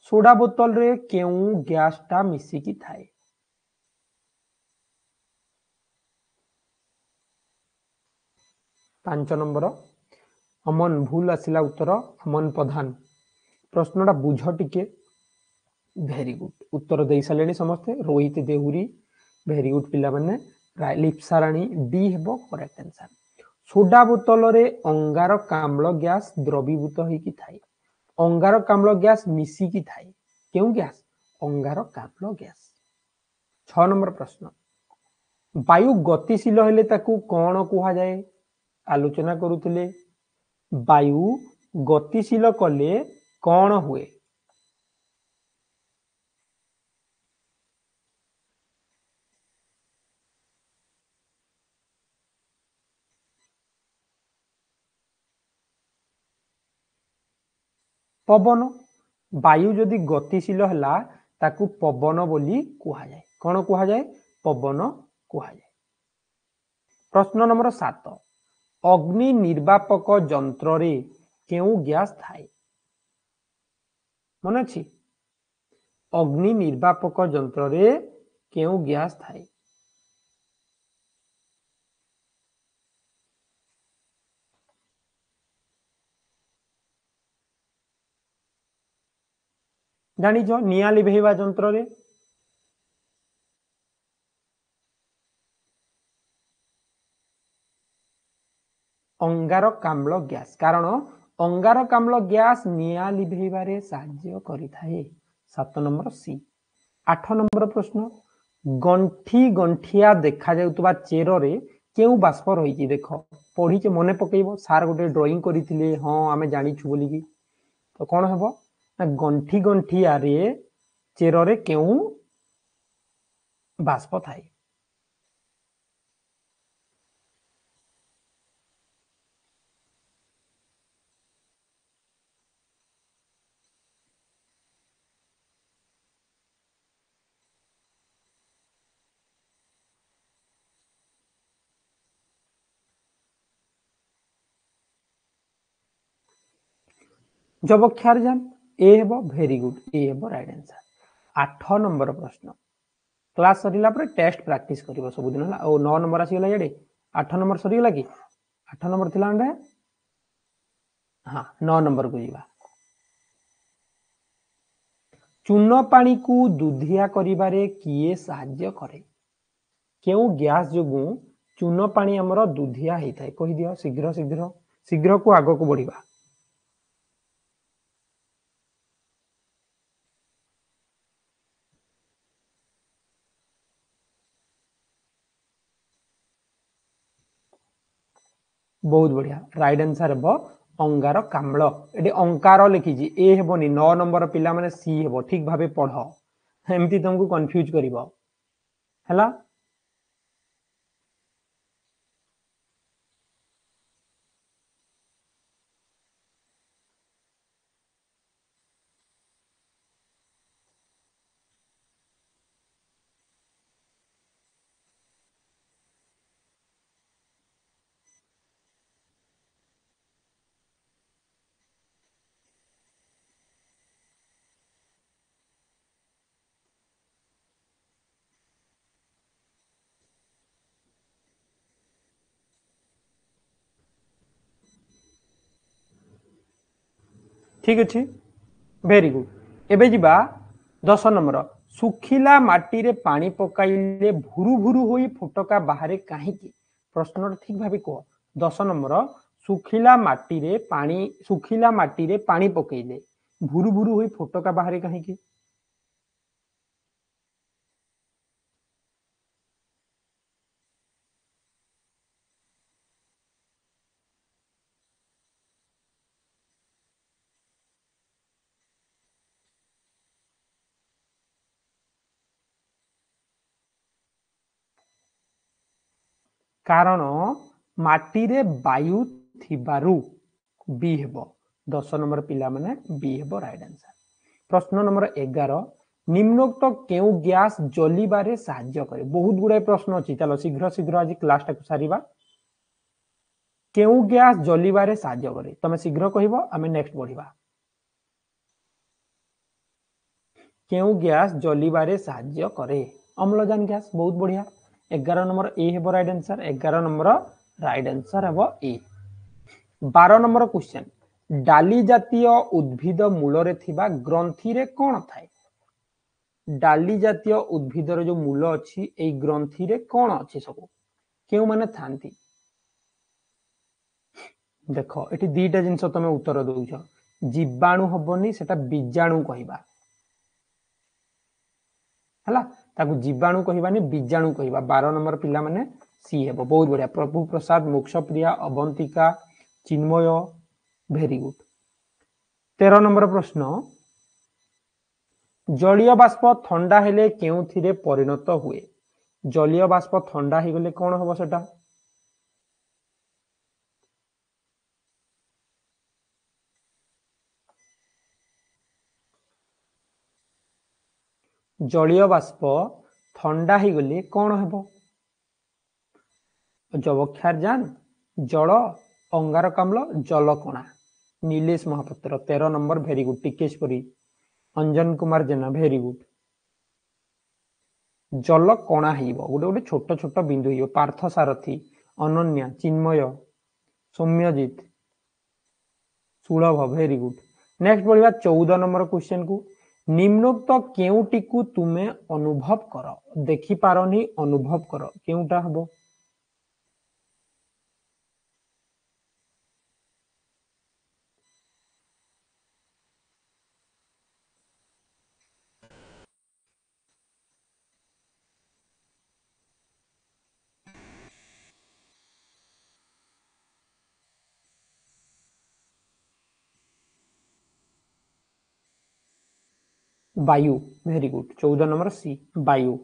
ସୋଡା ବୋତଲରେ କେଉଁ ଗ୍ୟାସଟା ମିଶିକି ଥାଏ? 5 ନମ୍ବର, ଅମନ ଭୁଲ ଆସିଲା ଉତ୍ତର, ଅମନ ପ୍ରଧାନ। ପ୍ରଶ୍ନଟା ବୁଝ ଟିକେ। ଭେରି ଗୁଡ, ଉତ୍ତର ଦେଇ ସାରିଲେଣି ସମସ୍ତେ। ରୋହିତ ଦେହୁରୀ, ଭେରି ଗୁଡ ପିଲାମାନେ। ଲିପ୍ସା ରାଣୀ, ଡି ହେବ କରେକ୍ଟ ଆନ୍ସର। ସୋଡା ବୋତଲରେ ଅଙ୍ଗାରକାମ୍ଳ ଗ୍ୟାସ ଦ୍ରବୀଭୂତ ହେଇକି ଥାଏ। ଅଙ୍ଗାରକାମ୍ଳ ଗ୍ୟାସ ମିଶିକି ଥାଏ। କେଉଁ ଗ୍ୟାସ? ଅଙ୍ଗାରକାମ୍ଳ ଗ୍ୟାସ। 6 ନମ୍ବର ପ୍ରଶ୍ନ, ବାୟୁ ଗତିଶୀଳ ହେଲେ ତାକୁ କଣ କୁହାଯାଏ? ଆଲୋଚନା କରୁଥିଲେ, ବାୟୁ ଗତିଶୀଳ କଲେ କଣ ହୁଏ? ପବନ। ବାୟୁ ଯଦି ଗତିଶୀଳ ହେଲା ତାକୁ ପବନ ବୋଲି କୁହାଯାଏ। କଣ କୁହାଯାଏ? ପବନ କୁହାଯାଏ। ପ୍ରଶ୍ନ ନମ୍ବର 7, ଅଗ୍ନି ନିର୍ବାପକ ଯନ୍ତ୍ରରେ କେଉଁ ଗ୍ୟାସ ଥାଏ? ମନେ ଅଛି? ଅଗ୍ନି ନିର୍ବାପକ ଯନ୍ତ୍ରରେ କେଉଁ ଗ୍ୟାସ ଥାଏ? ଜାଣିଛ ନିଆଁ ଲିଭେଇବା ଯନ୍ତ୍ରରେ? ଅଙ୍ଗାରକାମ୍ଳ ଗ୍ୟାସ। କାରଣ ଅଙ୍ଗାରକାମ୍ଳ ଗ୍ୟାସ ନିଆଁ ଲିଭେଇବାରେ ସାହାଯ୍ୟ କରିଥାଏ। 7 ନମ୍ବର ସି। 8 ନମ୍ବର ପ୍ରଶ୍ନ, ଗଣ୍ଠି ଗଣ୍ଠିଆ ଦେଖାଯାଉଥିବା ଚେରରେ କେଉଁ ବାଷ୍ପ ରହିଛି? ଦେଖ ପଢିଛେ, ମନେ ପକେଇବ, ସାର୍ ଗୋଟେ ଡ୍ରଇଂ କରିଥିଲେ, ହଁ ଆମେ ଜାଣିଛୁ ବୋଲିକି। ତ କଣ ହେବ ନା ଗଣ୍ଠି ଗଣ୍ଠିଆରେ ଚେରରେ କେଉଁ ବାଷ୍ପ ଥାଏ? ଯବକ୍ଷାରଜାନ ଏ ହେବ। ଭେରି ଗୁଡ୍, ଏ ହେବ ରାଇଟ୍ ଆନ୍ସର। 8 ନମ୍ବର ପ୍ରଶ୍ନ, କ୍ଲାସ ସରିଲା ପରେ ଟେଷ୍ଟ ପ୍ରାକ୍ଟିସ କରିବ ସବୁଦିନ ହେଲା। ଆଉ 9 ନମ୍ବର ଆସିଗଲା ଇଆଡେ, 8 ନମ୍ବର ସରିଗଲା କି? 8 ନମ୍ବର ଥିଲା ନା? ହଁ, 9 ନମ୍ବରକୁ ଯିବା। ଚୂନ ପାଣିକୁ ଦୁଧିଆ କରିବାରେ କିଏ ସାହାଯ୍ୟ କରେ? କେଉଁ ଗ୍ୟାସ ଯୋଗୁଁ ଚୂନ ପାଣି ଆମର ଦୁଧିଆ ହେଇଥାଏ? କହିଦିଅ ଶୀଘ୍ର ଶୀଘ୍ର, ଶୀଘ୍ରକୁ ଆଗକୁ ବଢିବା। ବହୁତ ବଢିଆ, ରାଇଟ୍ ଆନ୍ସର ହେବ ଅଙ୍ଗାରକାମ୍ଳ। ଏଠି ଅଙ୍କାର ଲେଖିଛି, ଏ ହେବନି। 9 ନମ୍ବର ପିଲାମାନେ ସି ହେବ। ଠିକ ଭାବେ ପଢ, ଏମିତି ତମକୁ କନଫ୍ୟୁଜ କରିବ ହେଲା। ଠିକ ଅଛି, ଭେରି ଗୁଡ୍। ଏବେ ଯିବା 10 ନମ୍ବର। ଶୁଖିଲା ମାଟିରେ ପାଣି ପକାଇଲେ ଭୁରୁ ଭୁରୁ ହୋଇ ଫୋଟକା ବାହାରେ କାହିଁକି? ପ୍ରଶ୍ନଟା ଠିକ ଭାବେ କୁହ। 10 ନମ୍ବର, ଶୁଖିଲା ମାଟିରେ ପାଣି ପକେଇଲେ ଭୁରୁ ଭୁରୁ ହୋଇ ଫୋଟକା ବାହାରେ କାହିଁକି? କାରଣ ମାଟିରେ ବାୟୁ ଥିବାରୁ। ବି ହେବ। 10 ନମ୍ବର ପିଲାମାନେ ବି ହେବ ରାଇଟ୍ ଆନ୍ସର। ପ୍ରଶ୍ନ ନମ୍ବର 11, ନିମ୍ନୋକ୍ତ କେଉଁ ଗ୍ୟାସ ଜଲିବାରେ ସାହାଯ୍ୟ କରେ? ବହୁତ ଗୁଡାଏ ପ୍ରଶ୍ନ ଅଛି, ଚାଲ ଶୀଘ୍ର ଶୀଘ୍ର ଆଜି କ୍ଲାସଟାକୁ ସାରିବା। କେଉଁ ଗ୍ୟାସ ଜଲିବାରେ ସାହାଯ୍ୟ କରେ? ତମେ ଶୀଘ୍ର କହିବ, ଆମେ ନେକ୍ସଟ ବଢିବା। କେଉଁ ଗ୍ୟାସ ଜଲିବାରେ ସାହାଯ୍ୟ କରେ? ଅମ୍ଳଜାନ ଗ୍ୟାସ। ବହୁତ ବଢିଆ। 11 ନମ୍ବର ଏ ହେବ right answer. 11 number right answer ହେବ ଏ। 12 ନମ୍ବର କ୍ୱେଶ୍ଚନ, ଡାଲି ଜାତୀୟ ଉଦ୍ଭିଦ ମୂଳରେ ଥିବା ଗ୍ରନ୍ଥିରେ କଣ ଥାଏ? ଡାଲି ଜାତୀୟ ଉଦ୍ଭିଦର ଯୋଉ ମୂଳ ଅଛି, ଏଇ ଗ୍ରନ୍ଥିରେ କଣ ଅଛି ସବୁ, କେଉଁମାନେ ଥାନ୍ତି? ଦେଖ ଏଠି ଦିଟା ଜିନିଷ ତମେ ଉତ୍ତର ଦଉଛ। ଜୀବାଣୁ ହବନି, ସେଟା ବୀଜାଣୁ କହିବା ହେଲା, ତାକୁ ଜୀବାଣୁ କହିବାନି, ବୀଜାଣୁ କହିବା। 12 ନମ୍ବର ପିଲାମାନେ ସି ହେବ। ବହୁତ ବଢିଆ। Prabhu Prasad, Mokshapriya, Abantika, Chinmay, very good. 13 number ପ୍ରଶ୍ନ, ଜଳୀୟ ବାଷ୍ପ ଥଣ୍ଡା ହେଲେ କେଉଁଥିରେ ପରିଣତ ହୁଏ? ଜଳୀୟ ବାଷ୍ପ ଥଣ୍ଡା ହେଇଗଲେ କଣ ହବ ସେଟା? ଜଳୀୟ ବାଷ୍ପ ଥଣ୍ଡା ହେଇଗଲେ କଣ ହେବ? ଯବକ୍ଷାରଜାନ, ଜଳ, ଅଙ୍ଗାରକାମ୍ଳ, ଜଲକଣା। Nilesh Mohapatra 13 number very good. Tikeshwari, Anjan Kumar Jena very good. ଜଲ କଣା ହେଇଯିବ, ଗୋଟେ ଗୋଟେ ଛୋଟ ଛୋଟ ବିନ୍ଦୁ ହେଇଯିବ। ପାର୍ଥ ସାରଥୀ, ଅନନ୍ୟା, ଚିନ୍ମୟ, ସୌମ୍ୟଜିତ, ସୁଲଭ ଭେରି ଗୁଡ୍। ନେକ୍ସଟ ବଢିବା 14 ନମ୍ବର କ୍ୱେଶ୍ଚନ କୁ। ନିମ୍ନୋକ୍ତ କେଉଁଟିକୁ ତୁମେ ଅନୁଭବ କର? ଦେଖିପାରନି, ଅନୁଭବ କର, କେଉଁଟା ହବ? ବାୟୁ ଭେରି ଗୁଡ୍। 14 ନମ୍ବର ସି ବାୟୁ।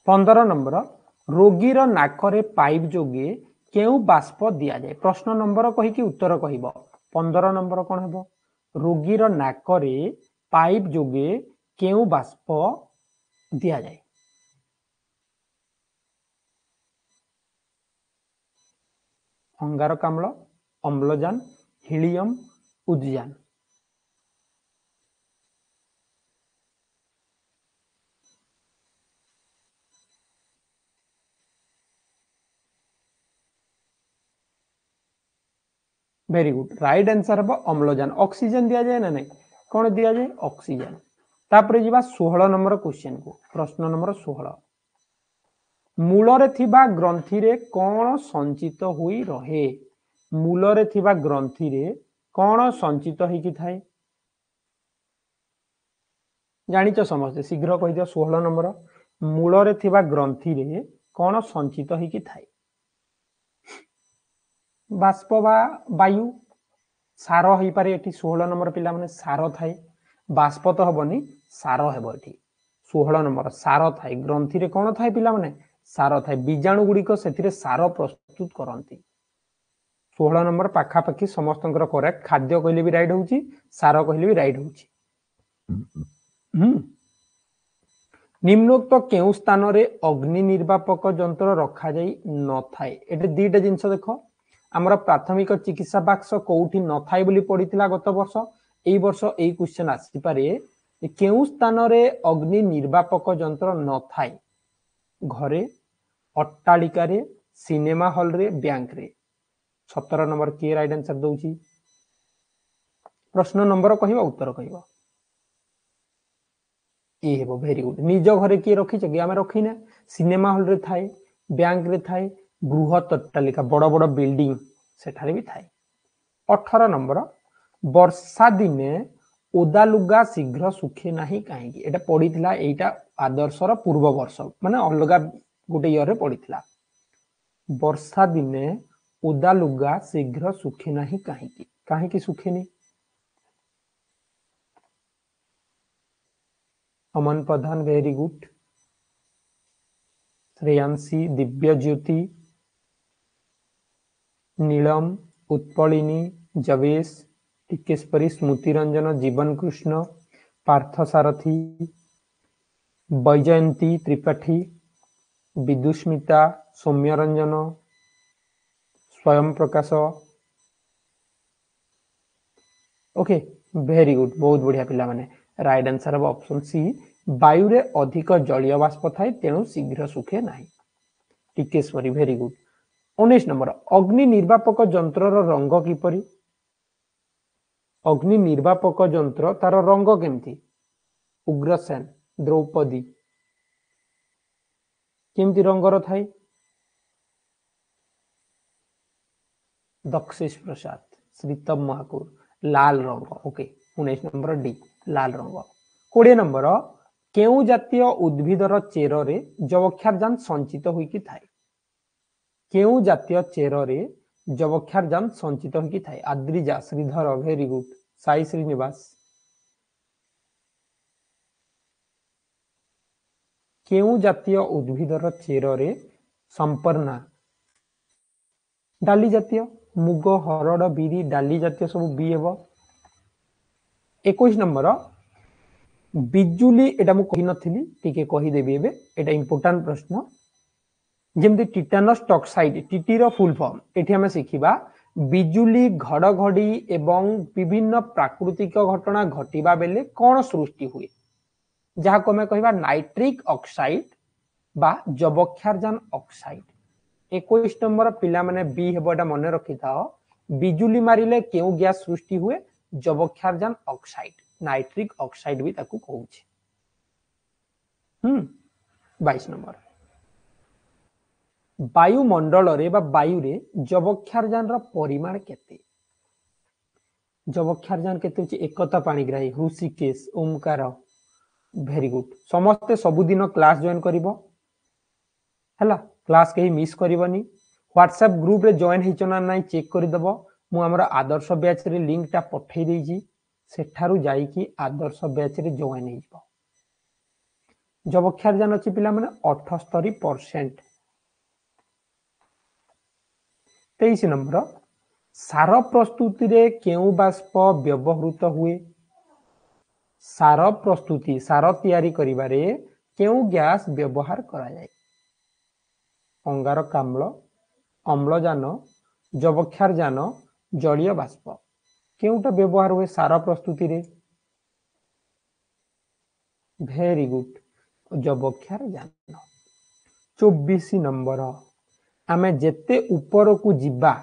15 ନମ୍ବର, ରୋଗୀର ନାକରେ ପାଇପ ଯୋଗେ କେଉଁ ବାଷ୍ପ ଦିଆଯାଏ? ପ୍ରଶ୍ନ ନମ୍ବର କହିକି ଉତ୍ତର କହିବ। 15 ନମ୍ବର କଣ ହେବ? ରୋଗୀର ନାକରେ ପାଇପ ଯୋଗେ କେଉଁ ବାଷ୍ପ ଦିଆଯାଏ? ଅଙ୍ଗାରକାମ୍ଳ, ଅମ୍ଳଜାନ, ହିଲିୟମ, ଉଦଜାନ। ଭେରି ଗୁଡ୍, ରାଇଟ୍ ଆନ୍ସର ହେବ ଅମ୍ଳଜାନ। ଅକ୍ସିଜେନ ଦିଆଯାଏ ନା ନାଇଁ? କଣ ଦିଆଯାଏ? ଅକ୍ସିଜେନ। ତାପରେ ଯିବା 16 ନମ୍ବର କ୍ୱେଶ୍ଚନ କୁ। ପ୍ରଶ୍ନ ନମ୍ବର 16, ମୂଳରେ ଥିବା ଗ୍ରନ୍ଥିରେ କଣ ସଞ୍ଚିତ ହୋଇ ରହେ? ମୂଳରେ ଥିବା ଗ୍ରନ୍ଥିରେ କଣ ସଞ୍ଚିତ ହେଇକି ଥାଏ? ଜାଣିଛ ସମସ୍ତେ, ଶୀଘ୍ର କହିଦିଅ। 16 ନମ୍ବର, ମୂଳରେ ଥିବା ଗ୍ରନ୍ଥିରେ କଣ ସଞ୍ଚିତ ହେଇକି ଥାଏ? ବାଷ୍ପ ବା ବାୟୁ, ସାର ହେଇପାରେ ଏଠି। 16 ନମ୍ବର ପିଲାମାନେ ସାର ଥାଏ, ବାଷ୍ପ ତ ହବନି, ସାର ହେବ ଏଠି। 16 ନମ୍ବର ସାର ଥାଏ। ଗ୍ରନ୍ଥିରେ କଣ ଥାଏ ପିଲାମାନେ? ସାର ଥାଏ। ବୀଜାଣୁ ଗୁଡ଼ିକ ସେଥିରେ ସାର ପ୍ରସ୍ତୁତ କରନ୍ତି। 16 ନମ୍ବର ପାଖାପାଖି ସମସ୍ତଙ୍କର କରେକ୍ଟ। ଖାଦ୍ୟ କହିଲେ ବି ରାଇଟ୍ ହଉଛି, ସାର କହିଲେ ବି ରାଇଟ୍ ହଉଛି। ନିମ୍ନୋକ୍ତ କେଉଁ ସ୍ଥାନରେ ଅଗ୍ନି ନିର୍ବାପକ ଯନ୍ତ୍ର ରଖାଯାଇ ନଥାଏ? ଏଠି ଦିଟା ଜିନିଷ ଦେଖ। ଆମର ପ୍ରାଥମିକ ଚିକିତ୍ସା ବାକ୍ସ କୋଉଠି ନଥାଏ ବୋଲି ପଡିଥିଲା ଗତ ବର୍ଷ। ଏଇ ବର୍ଷ ଏଇ କ୍ୱେଶ୍ଚନ ଆସିପାରେ, କେଉଁ ସ୍ଥାନରେ ଅଗ୍ନି ନିର୍ବାପକ ଯନ୍ତ୍ର ନଥାଏ? ଘରେ, ଅଟ୍ଟାଳିକାରେ, ସିନେମା ହଲରେ, ବ୍ୟାଙ୍କରେ। 17 ନମ୍ବର କିଏ ରାଇଟ୍ ଆନ୍ସର ଦଉଛି? ପ୍ରଶ୍ନ ନମ୍ବର କହିବ, ଉତ୍ତର କହିବ। ଏ ହେବ ଭେରି ଗୁଡ୍। ନିଜ ଘରେ କିଏ ରଖିଛ କି? ଆମେ ରଖିନା। ସିନେମା ହଲରେ ଥାଏ, ବ୍ୟାଙ୍କରେ ଥାଏ, ବୃହତ ଅଟ୍ଟାଳିକା, ବଡ ବଡ ବିଲ୍ଡିଂ ସେଠାରେ ବି ଥାଏ। 18 ନମ୍ବର, ବର୍ଷା ଦିନେ ଓଦା ଲୁଗା ଶୀଘ୍ର ଶୁଖେ ନାହିଁ କାହିଁକି? ଏଇଟା ପଡିଥିଲା, ଏଇଟା ଆଦର୍ଶର ପୂର୍ବ ବର୍ଷ, ମାନେ ଅଲଗା ଗୋଟେ ଇୟରରେ ପଡିଥିଲା। ବର୍ଷା ଦିନେ ଓଦା ଲୁଗା ଶୀଘ୍ର ଶୁଖେ ନାହିଁ କାହିଁକି? କାହିଁକି ଶୁଖେନି? Aman Pradhan very good. Shreyanshi, Dibya Jyoti, Nilam, Utpalini, Jabesh, Tikeshwari, Smriti Ranjan, Jiban Krishna, Partha Sarathi, Baijayanti Tripathi, Bidusmita, Soumya Ranjan, Swayam Prakash. Okay very good, ବହୁତ ବଢିଆ ପିଲାମାନେ। ରାଇଟ୍ ଆନ୍ସର ହେବ ଅପସନ ସି, ବାୟୁରେ ଅଧିକ ଜଳୀୟ ବାଷ୍ପ ଥାଏ ତେଣୁ ଶୀଘ୍ର ଶୁଖେ ନାହିଁ। Tikeswari very good. 19 ନମ୍ବର, ଅଗ୍ନି ନିର୍ବାପକ ଯନ୍ତ୍ରର ରଙ୍ଗ କିପରି? ଅଗ୍ନି ନିର୍ବାପକ ଯନ୍ତ୍ର ତାର ରଙ୍ଗ କେମିତି? ଉଗ୍ରସେନ, ଦ୍ରୌପଦୀ, କେମିତି ରଙ୍ଗର ଥାଏ? ଦକ୍ଷେଶ ପ୍ରସାଦ, ଶ୍ରୀତମ ମହାକୁର, ଲାଲ ରଙ୍ଗ। ଓକେ 19 ନମ୍ବର ଡି, ଲାଲ ରଙ୍ଗ। 20 ନମ୍ବର, କେଉଁ ଜାତୀୟ ଉଦ୍ଭିଦର ଚେରରେ ଯବକ୍ଷାରଜାନ ସଞ୍ଚିତ ହୋଇକି ଥାଏ? କେଉଁ ଜାତୀୟ ଚେରରେ ଯବକ୍ଷାରଜାନ ସଞ୍ଚିତ ହୋଇକି ଥାଏ? Adrija, Sridhar very good. Sai Srinivas, କେଉଁ ଜାତୀୟ ଉଦ୍ଭିଦର ଚେରରେ? ସମ୍ପର୍ଣ୍ଣା, ଡାଲି ଜାତୀୟ, ମୁଗ, ହରଡ଼, ବିରି, ଡାଲି ଜାତୀୟ ସବୁ ବି ହେବ। 21 ନମ୍ବର, ବିଜୁଳି, ଏଟା ମୁଁ କହିନଥିଲି, ଟିକେ କହିଦେବି ଏବେ, ଏଟା ଇମ୍ପୋର୍ଟାଣ୍ଟ ପ୍ରଶ୍ନ। ଯେମିତି ଟିଟାନସ୍ ଟକ୍ସାଇଡ୍, ଟିଟିର ଫୁଲ ଫର୍ମ ଏଠି ଆମେ ଶିଖିବା। ବିଜୁଳି, ଘଡ଼ଘଡ଼ି ଏବଂ ବିଭିନ୍ନ ପ୍ରାକୃତିକ ଘଟଣା ଘଟିବା ବେଳେ କଣ ସୃଷ୍ଟି ହୁଏ, ଯାହାକୁ ଆମେ କହିବା ନାଇଟ୍ରିକ୍ ଅକ୍ସାଇଡ୍ ବା ଯବକ୍ଷାରଜାନ ଅକ୍ସାଇଡ୍। 21 ନମ୍ବର ପିଲାମାନେ ବି ହେବ, ଏଟା ମନେ ରଖିଥାଅ। ବିଜୁଳି ମାରିଲେ କେଉଁ ଗ୍ୟାସ ସୃଷ୍ଟି ହୁଏ? ଯବକ୍ଷାରଜାନ ଅକ୍ସାଇଡ୍, ନାଇଟ୍ରିକ୍ ଅକ୍ସାଇଡ୍ ବି ତାକୁ କହୁଛି। 22 ନମ୍ବର, ବାୟୁମଣ୍ଡଳରେ ବା ବାୟୁରେ ଯବକ୍ଷାରଜାନର ପରିମାଣ କେତେ? ଯବକ୍ଷାରଜାନ କେତେ ଅଛି? ଏକତା ପାଣିଗ୍ରାହୀ, ହୃଷିକେଶ, ଓମକାର, ଭେରି ଗୁଡ୍। ସମସ୍ତେ ସବୁଦିନ କ୍ଲାସ ଜଏନ୍ କରିବ, ହେଲା? କ୍ଲାସ କେହି ମିସ୍ କରିବନି। ହ୍ୱାଟ୍ସଆପ୍ ଗ୍ରୁପରେ ଜଏନ୍ ହେଇଛ ନା ନାଇଁ ଚେକ୍ କରିଦେବ। ମୁଁ ଆମର ଆଦର୍ଶ ବ୍ୟାଚରେ ଲିଙ୍କଟା ପଠେଇ ଦେଇଛି, ସେଠାରୁ ଯାଇକି ଆଦର୍ଶ ବ୍ୟାଚରେ ଜଏନ୍ ହେଇଯିବ। ଯବକ୍ଷାରଜାନ ଅଛି ପିଲାମାନେ 78%। 23 ନମ୍ବର, ସାର ପ୍ରସ୍ତୁତିରେ କେଉଁ ବାଷ୍ପ ବ୍ୟବହୃତ ହୁଏ? ସାର ପ୍ରସ୍ତୁତି, ସାର ତିଆରି କରିବାରେ କେଉଁ ଗ୍ୟାସ ବ୍ୟବହାର କରାଯାଏ? ଅଙ୍ଗାରକାମ୍ଳ, ଅମ୍ଳଜାନ, ଯବକ୍ଷାରଜାନ, ଜଳୀୟ ବାଷ୍ପ, କେଉଁଟା ବ୍ୟବହାର ହୁଏ ସାର ପ୍ରସ୍ତୁତିରେ? Very good, ଯବକ୍ଷାରଜାନ। 24 ନମ୍ବର, ଆମେ ଯେତେ ଉପରକୁ ଯିବା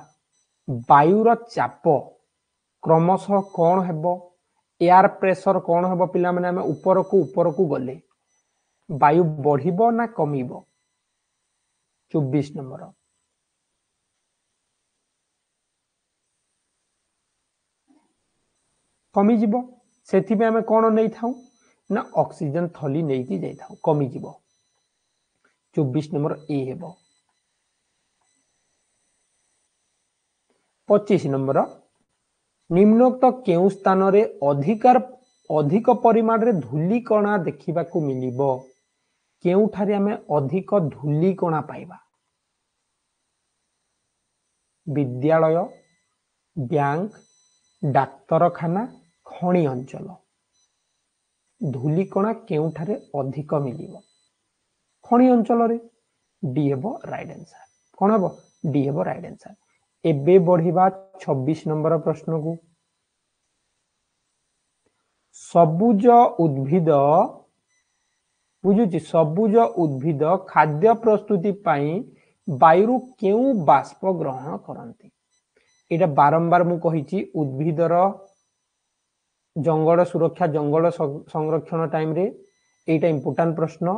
ବାୟୁର ଚାପ କ୍ରମଶଃ କଣ ହେବ? ଏୟାର ପ୍ରେସର କଣ ହେବ ପିଲାମାନେ? ଆମେ ଉପରକୁ ଉପରକୁ ଗଲେ ବାୟୁ ବଢିବ ନା କମିବ? 24 ନମ୍ବର, କମିଯିବ। ସେଥିପାଇଁ ଆମେ କଣ ନେଇଥାଉ ନା ଅକ୍ସିଜେନ ଥଲି ନେଇକି ଯାଇଥାଉ, କମିଯିବ। 24 ନମ୍ବର ଏ ହେବ। 25 ନମ୍ବର, ନିମ୍ନୋକ୍ତ କେଉଁ ସ୍ଥାନରେ ଅଧିକ ପରିମାଣରେ ଧୂଳିକଣା ଦେଖିବାକୁ ମିଳିବ? କେଉଁଠାରେ ଆମେ ଅଧିକ ଧୂଳିକଣା ପାଇବା? ବିଦ୍ୟାଳୟ, ବ୍ୟାଙ୍କ, ଡାକ୍ତରଖାନା, ଖଣି ଅଞ୍ଚଳ। ଧୂଳିକଣା କେଉଁଠାରେ ଅଧିକ ମିଳିବ? ଖଣି ଅଞ୍ଚଳରେ। ଡି ହେବ ରାଇଟ୍ ଆନ୍ସର। କଣ ହେବ? ଡି ହେବ ରାଇଟ୍ ଆନ୍ସର। ଏବେ ବଢିବା 26 ନମ୍ବର ପ୍ରଶ୍ନକୁ। ସବୁଜ ଉଦ୍ଭିଦ, ବୁଝୁଛି, ସବୁଜ ଉଦ୍ଭିଦ ଖାଦ୍ୟ ପ୍ରସ୍ତୁତି ପାଇଁ ବାୟୁରୁ କେଉଁ ବାଷ୍ପ ଗ୍ରହଣ କରନ୍ତି? ଏଇଟା ବାରମ୍ବାର ମୁଁ କହିଛି, ଉଦ୍ଭିଦର ଜଙ୍ଗଲ ସୁରକ୍ଷା, ଜଙ୍ଗଲ ସଂରକ୍ଷଣ ଟାଇମରେ ଏଇଟା ଇମ୍ପୋର୍ଟାଣ୍ଟ ପ୍ରଶ୍ନ।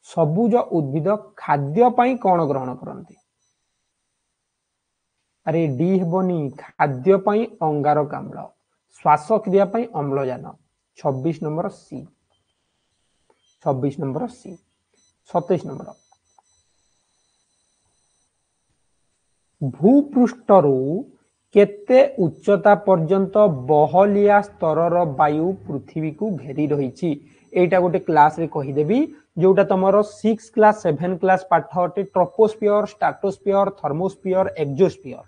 ସବୁଜ ଉଦ୍ଭିଦ ଖାଦ୍ୟ ପାଇଁ କଣ ଗ୍ରହଣ କରନ୍ତି? ଆରେ ଡି ହେବନି, ଖାଦ୍ୟ ପାଇଁ ଅଙ୍ଗାରକାମ୍ଳ, ଶ୍ୱାସକ୍ରିୟା ପାଇଁ ଅମ୍ଳଜାନ। 26 number C, 26 number C. 27 number, ଭୂପୃଷ୍ଠରୁ କେତେ ଉଚ୍ଚତା ପର୍ଯ୍ୟନ୍ତ ବହଲିଆ ସ୍ତରର ବାୟୁ ପୃଥିବୀକୁ ଘେରି ରହିଛି? ଏଇଟା ଗୋଟେ କ୍ଲାସରେ କହିଦେବି, ଯୋଉଟା ତମର 6 କ୍ଲାସ 7 କ୍ଲାସ ପାଠ ଅଟେ। ଟ୍ରପୋସ୍ଫିୟର, ଷ୍ଟ୍ରାଟୋସ୍ଫିୟର, ଥର୍ମୋସ୍ଫିୟର, ଏକ୍ସୋସ୍ଫିୟର,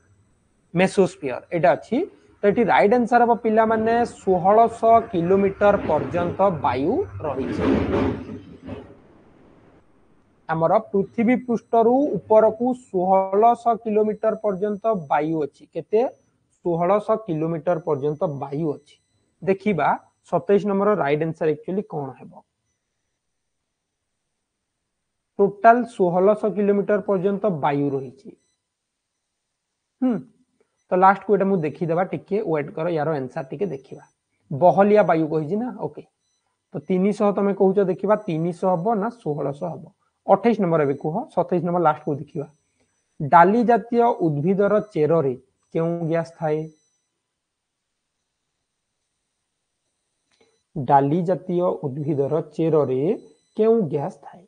ମେସୋସ୍ଫିୟର, ଏଇଟା ଅଛି। ତ ଏଠି ରାଇଟ୍ ଆନ୍ସର ହବ ପିଲାମାନେ 1600 କିଲୋମିଟର ପର୍ଯ୍ୟନ୍ତ ବାୟୁ ରହିଛି। ଆମର ପୃଥିବୀ ପୃଷ୍ଠରୁ ଉପରକୁ 1600 କିଲୋମିଟର ପର୍ଯ୍ୟନ୍ତ ବାୟୁ ଅଛି। କେତେ? 1600 କିଲୋମିଟର ପର୍ଯ୍ୟନ୍ତ ବାୟୁ ଅଛି। ଦେଖିବା 27 ନମ୍ବର ରାଇଟ୍ ଆନ୍ସର ଆକ୍ଚୁଆଲି କଣ ହେବ। ଟୋଟାଲ 1600 କିଲୋମିଟର ପର୍ଯ୍ୟନ୍ତ ବାୟୁ ରହିଛି। ତ ଲାଷ୍ଟକୁ ଏଇଟା ମୁଁ ଦେଖିଦେବା, ଟିକେ ୱେଟ୍ କର, ୟାର ଆନ୍ସର ଟିକେ ଦେଖିବା। ବହଲିଆ ବାୟୁ କହିଛି ନା, ଓକେ। ତ 300 ତମେ କହୁଛ, ଦେଖିବା 300 ହବ ନା 1600 ହବ। 28 ନମ୍ବର ଏବେ କୁହ, 27 ନମ୍ବର ଲାଷ୍ଟକୁ ଦେଖିବା। ଡାଲି ଜାତୀୟ ଉଦ୍ଭିଦର ଚେରରେ କେଉଁ ଗ୍ୟାସ ଥାଏ? ଡାଲି ଜାତୀୟ ଉଦ୍ଭିଦର ଚେରରେ କେଉଁ ଗ୍ୟାସ ଥାଏ?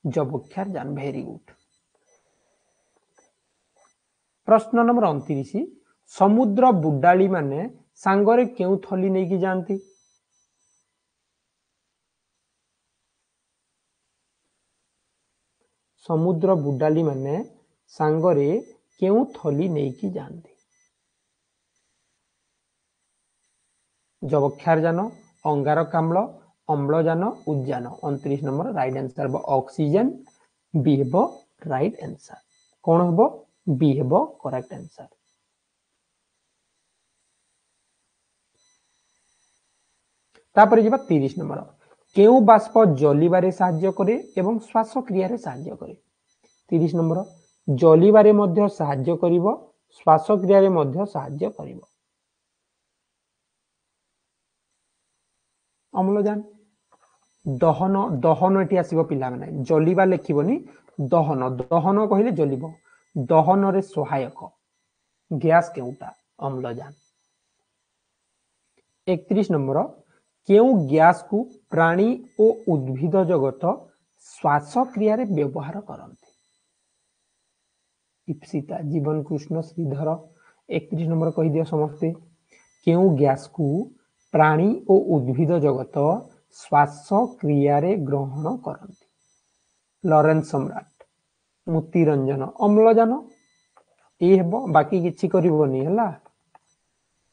ଯବକ୍ଷାରଜାନ, ଭେରି ଗୁଡ୍। ପ୍ରଶ୍ନ ନମ୍ବର 29, ସମୁଦ୍ର ବୁଡାଳି ମାନେ ସାଙ୍ଗରେ କେଉଁ ଥଲି ନେଇକି ଯାଆନ୍ତି? ସମୁଦ୍ର ବୁଡାଲି ମାନେ ସାଙ୍ଗରେ କେଉଁ ଥଲି ନେଇକି ଯାଆନ୍ତି? ଯବକ୍ଷାରଜାନ, ଅଙ୍ଗାରକାମ୍ଳ, ଅମ୍ଳଜାନ, ଉଦ୍ଜାନ। 29 ନମ୍ବର ରାଇଟ୍ ଆନ୍ସର ହେବ ଅକ୍ସିଜେନ, ବି ହେବ ରାଇଟ୍ ଆନ୍ସର। କଣ ହେବ? ବି ହେବ କରେକ୍ଟ ଆନ୍ସର। ତାପରେ ଯିବା 30 ନମ୍ବର। କେଉଁ ବାଷ୍ପ ଜଲିବାରେ ସାହାଯ୍ୟ କରେ ଏବଂ ଶ୍ୱାସକ୍ରିୟାରେ ସାହାଯ୍ୟ କରେ? 30 ନମ୍ବର, ଜଲିବାରେ ମଧ୍ୟ ସାହାଯ୍ୟ କରିବ, ଶ୍ୱାସକ୍ରିୟାରେ ମଧ୍ୟ ସାହାଯ୍ୟ କରିବ। ଅମ୍ଳଜାନ। ଦହନ, ଦହନ ଏଠି ଆସିବ ପିଲାମାନେ, ଜଲିବା ଲେଖିବନି, ଦହନ, ଦହନ କହିଲେ ଜଲିବ। ଦହନରେ ସହାୟକ ଗ୍ୟାସ କେଉଁଟା? ଅମ୍ଳଜାନ। 31 ନମ୍ବର, କେଉଁ ଗ୍ୟାସକୁ ପ୍ରାଣୀ ଓ ଉଦ୍ଭିଦ ଜଗତ ଶ୍ୱାସକ୍ରିୟାରେ ବ୍ୟବହାର କରନ୍ତି? ଇପ୍ସିତା, ଜୀବନ କୃଷ୍ଣ, ଶ୍ରୀଧର। 31 ନମ୍ବର କହିଦିଅ ସମସ୍ତେ, କେଉଁ ଗ୍ୟାସକୁ ପ୍ରାଣୀ ଓ ଉଦ୍ଭିଦ ଜଗତ ଶ୍ୱାସକ୍ରିୟାରେ ଗ୍ରହଣ କରନ୍ତି? ଲରେନ୍ସ ସମ୍ରାଟ, ମୋତିରଞ୍ଜନ, ଅମ୍ଳଜାନ ଏଇ ହେବ, ବାକି କିଛି କରିବନି ହେଲା।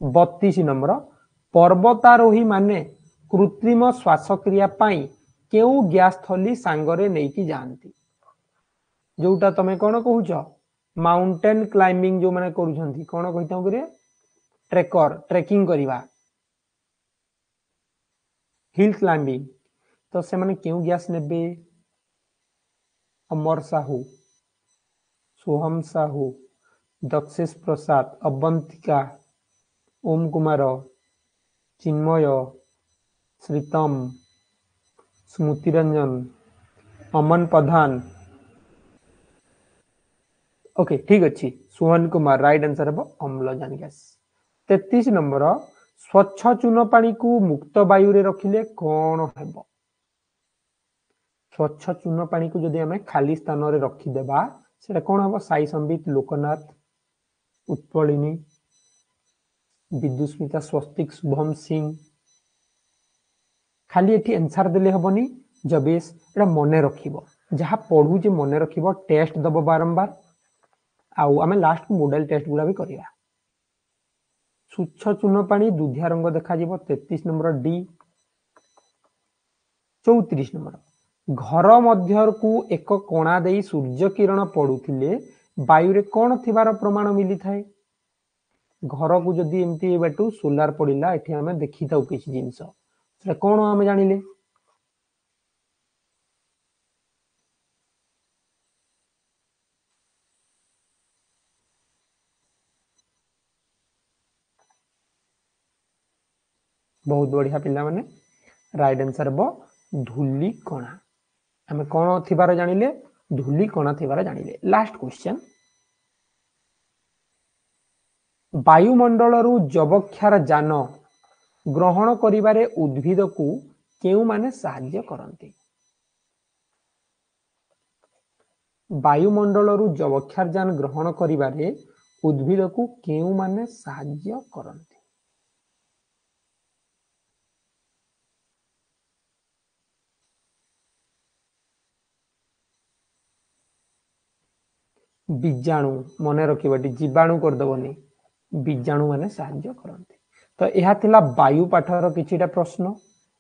32 ନମ୍ବର, ପର୍ବତାରୋହୀ ମାନେ କୃତ୍ରିମ ଶ୍ୱାସକ୍ରିୟା ପାଇଁ କେଉଁ ଗ୍ୟାସ ଥଲି ସାଙ୍ଗରେ ନେଇକି ଯାଆନ୍ତି? ଯୋଉଟା ତମେ କଣ କହୁଛ, ମାଉଣ୍ଟେନ କ୍ଲାଇମ୍ବିଂ ଯୋଉମାନେ କରୁଛନ୍ତି, କଣ କହିଥାଉ କିରେ? ଟ୍ରେକର, ଟ୍ରେକିଂ କରିବା, ହିଲ୍ କ୍ଲାଇମ୍ବିଂ, ତ ସେମାନେ କେଉଁ ଗ୍ୟାସ ନେବେ? ଅମର ସାହୁ, ସୋହମ ସାହୁ, ଦକ୍ଷେଶ ପ୍ରସାଦ, ଅବନ୍ତିକା, ଓମ କୁମାର, ଚିନ୍ମୟ, ଶ୍ରୀତମ, ସ୍ମୃତିରଞ୍ଜନ, ଅମନ ପ୍ରଧାନ। ଓକେ ଠିକ ଅଛି, ସୁହନ କୁମାର ରାଇଟ୍ ଆନ୍ସର ହେବ ଅମ୍ଳଜାନ ଗ୍ୟାସ। 33 ନମ୍ବର, ସ୍ୱଚ୍ଛ ଚୂନ ପାଣିକୁ ମୁକ୍ତ ବାୟୁରେ ରଖିଲେ କଣ ହେବ? ସ୍ୱଚ୍ଛ ଚୂନ ପାଣିକୁ ଯଦି ଆମେ ଖାଲି ସ୍ଥାନରେ ରଖିଦେବା ସେଟା କଣ ହେବ? ସାଇ ସମ୍ବିତ, ଲୋକନାଥ, ଉତ୍ପଳିନୀ, ବିଦ୍ୟୁସ୍ମିତା, ସ୍ୱସ୍ତିକ, ଶୁଭମ ସିଂ। ଖାଲି ଏଠି ଆନ୍ସର ଦେଲେ ହବନି ଜବେଶ, ଏଟା ମନେ ରଖିବ, ଯାହା ପଢୁଛେ ମନେ ରଖିବ, ଟେଷ୍ଟ ଦବ ବାରମ୍ବାର। ଆଉ ଆମେ ଲାଷ୍ଟକୁ ମଡେଲ ଟେଷ୍ଟ ଗୁଡା ବି କରିବା। ସ୍ୱଚ୍ଛ ଚୂନ ପାଣି ଦୁଧିଆ ରଙ୍ଗ ଦେଖାଯିବ, 33 ନମ୍ବର ଡି। 34 ନମ୍ବର, ଘର ମଧ୍ୟକୁ ଏକ କଣା ଦେଇ ସୂର୍ଯ୍ୟ କିରଣ ପଡୁଥିଲେ ବାୟୁରେ କଣ ଥିବାର ପ୍ରମାଣ ମିଳିଥାଏ? ଘରକୁ ଯଦି ଏମିତି ଏବାଟୁ ସୋଲାର ପଡିଲା, ଏଠି ଆମେ ଦେଖିଥାଉ କିଛି ଜିନିଷ, ସେଟା କଣ ଆମେ ଜାଣିଲେ? ବହୁତ ବଢିଆ ପିଲାମାନେ, ରାଇଟ୍ ଆନ୍ସର ହେବ ଧୂଳି କଣା। ଆମେ କଣ ଥିବାର ଜାଣିଲେ? ଧୂଳି କଣା ଥିବାର ଜାଣିଲେ। ଲାଷ୍ଟ କ୍ୱେଶ୍ଚନ, ବାୟୁମଣ୍ଡଳରୁ ଯବକ୍ଷାର ଯାନ ଗ୍ରହଣ କରିବାରେ ଉଦ୍ଭିଦକୁ କେଉଁମାନେ ସାହାଯ୍ୟ କରନ୍ତି? ବାୟୁମଣ୍ଡଳରୁ ଯବକ୍ଷାରଜାନ ଗ୍ରହଣ କରିବାରେ ଉଦ୍ଭିଦକୁ କେଉଁମାନେ ସାହାଯ୍ୟ କରନ୍ତି? ବୀଜାଣୁ, ମନେ ରଖିବ ଏଠି ଜୀବାଣୁ କରିଦବନି, ବୀଜାଣୁ ମାନେ ସାହାଯ୍ୟ କରନ୍ତି। ତ ଏହା ଥିଲା ବାୟୁ ପାଠର କିଛିଟା ପ୍ରଶ୍ନ।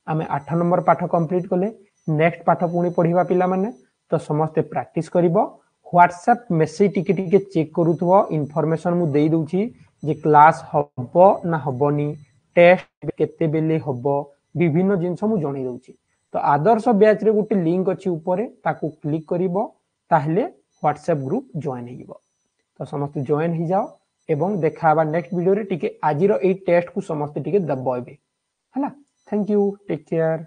ଆମେ 8 ନମ୍ବର ପାଠ କମ୍ପ୍ଲିଟ କଲେ, ନେକ୍ସଟ ପାଠ ପୁଣି ପଢିବା ପିଲାମାନେ। ତ ସମସ୍ତେ ପ୍ରାକ୍ଟିସ କରିବ, ହ୍ୱାଟ୍ସଆପ ମେସେଜ ଟିକେ ଟିକେ ଚେକ୍ କରୁଥିବ, ଇନଫର୍ମେସନ ମୁଁ ଦେଇ ଦଉଛି ଯେ କ୍ଲାସ ହବ ନା ହବନି, ଟେଷ୍ଟ କେତେବେଳେ ହବ, ବିଭିନ୍ନ ଜିନିଷ ମୁଁ ଜଣେଇ ଦଉଛି। ତ ଆଦର୍ଶ ବ୍ୟାଚରେ ଗୋଟେ ଲିଙ୍କ ଅଛି ଉପରେ, ତାକୁ କ୍ଲିକ୍ କରିବ, ତାହେଲେ ହ୍ୱାଟ୍ସଆପ ଗ୍ରୁପ ଜଏନ୍ ହେଇଯିବ। ତ ସମସ୍ତେ ଜଏନ୍ ହେଇଯାଅ ଏବଂ ଦେଖା ହେବା ନେକ୍ସଟ ଭିଡ଼ିଓରେ। ଟିକେ ଆଜିର ଏଇ ଟେଷ୍ଟକୁ ସମସ୍ତେ ଟିକେ ଦବ ଏବେ, ହେଲା। Thank you, take care.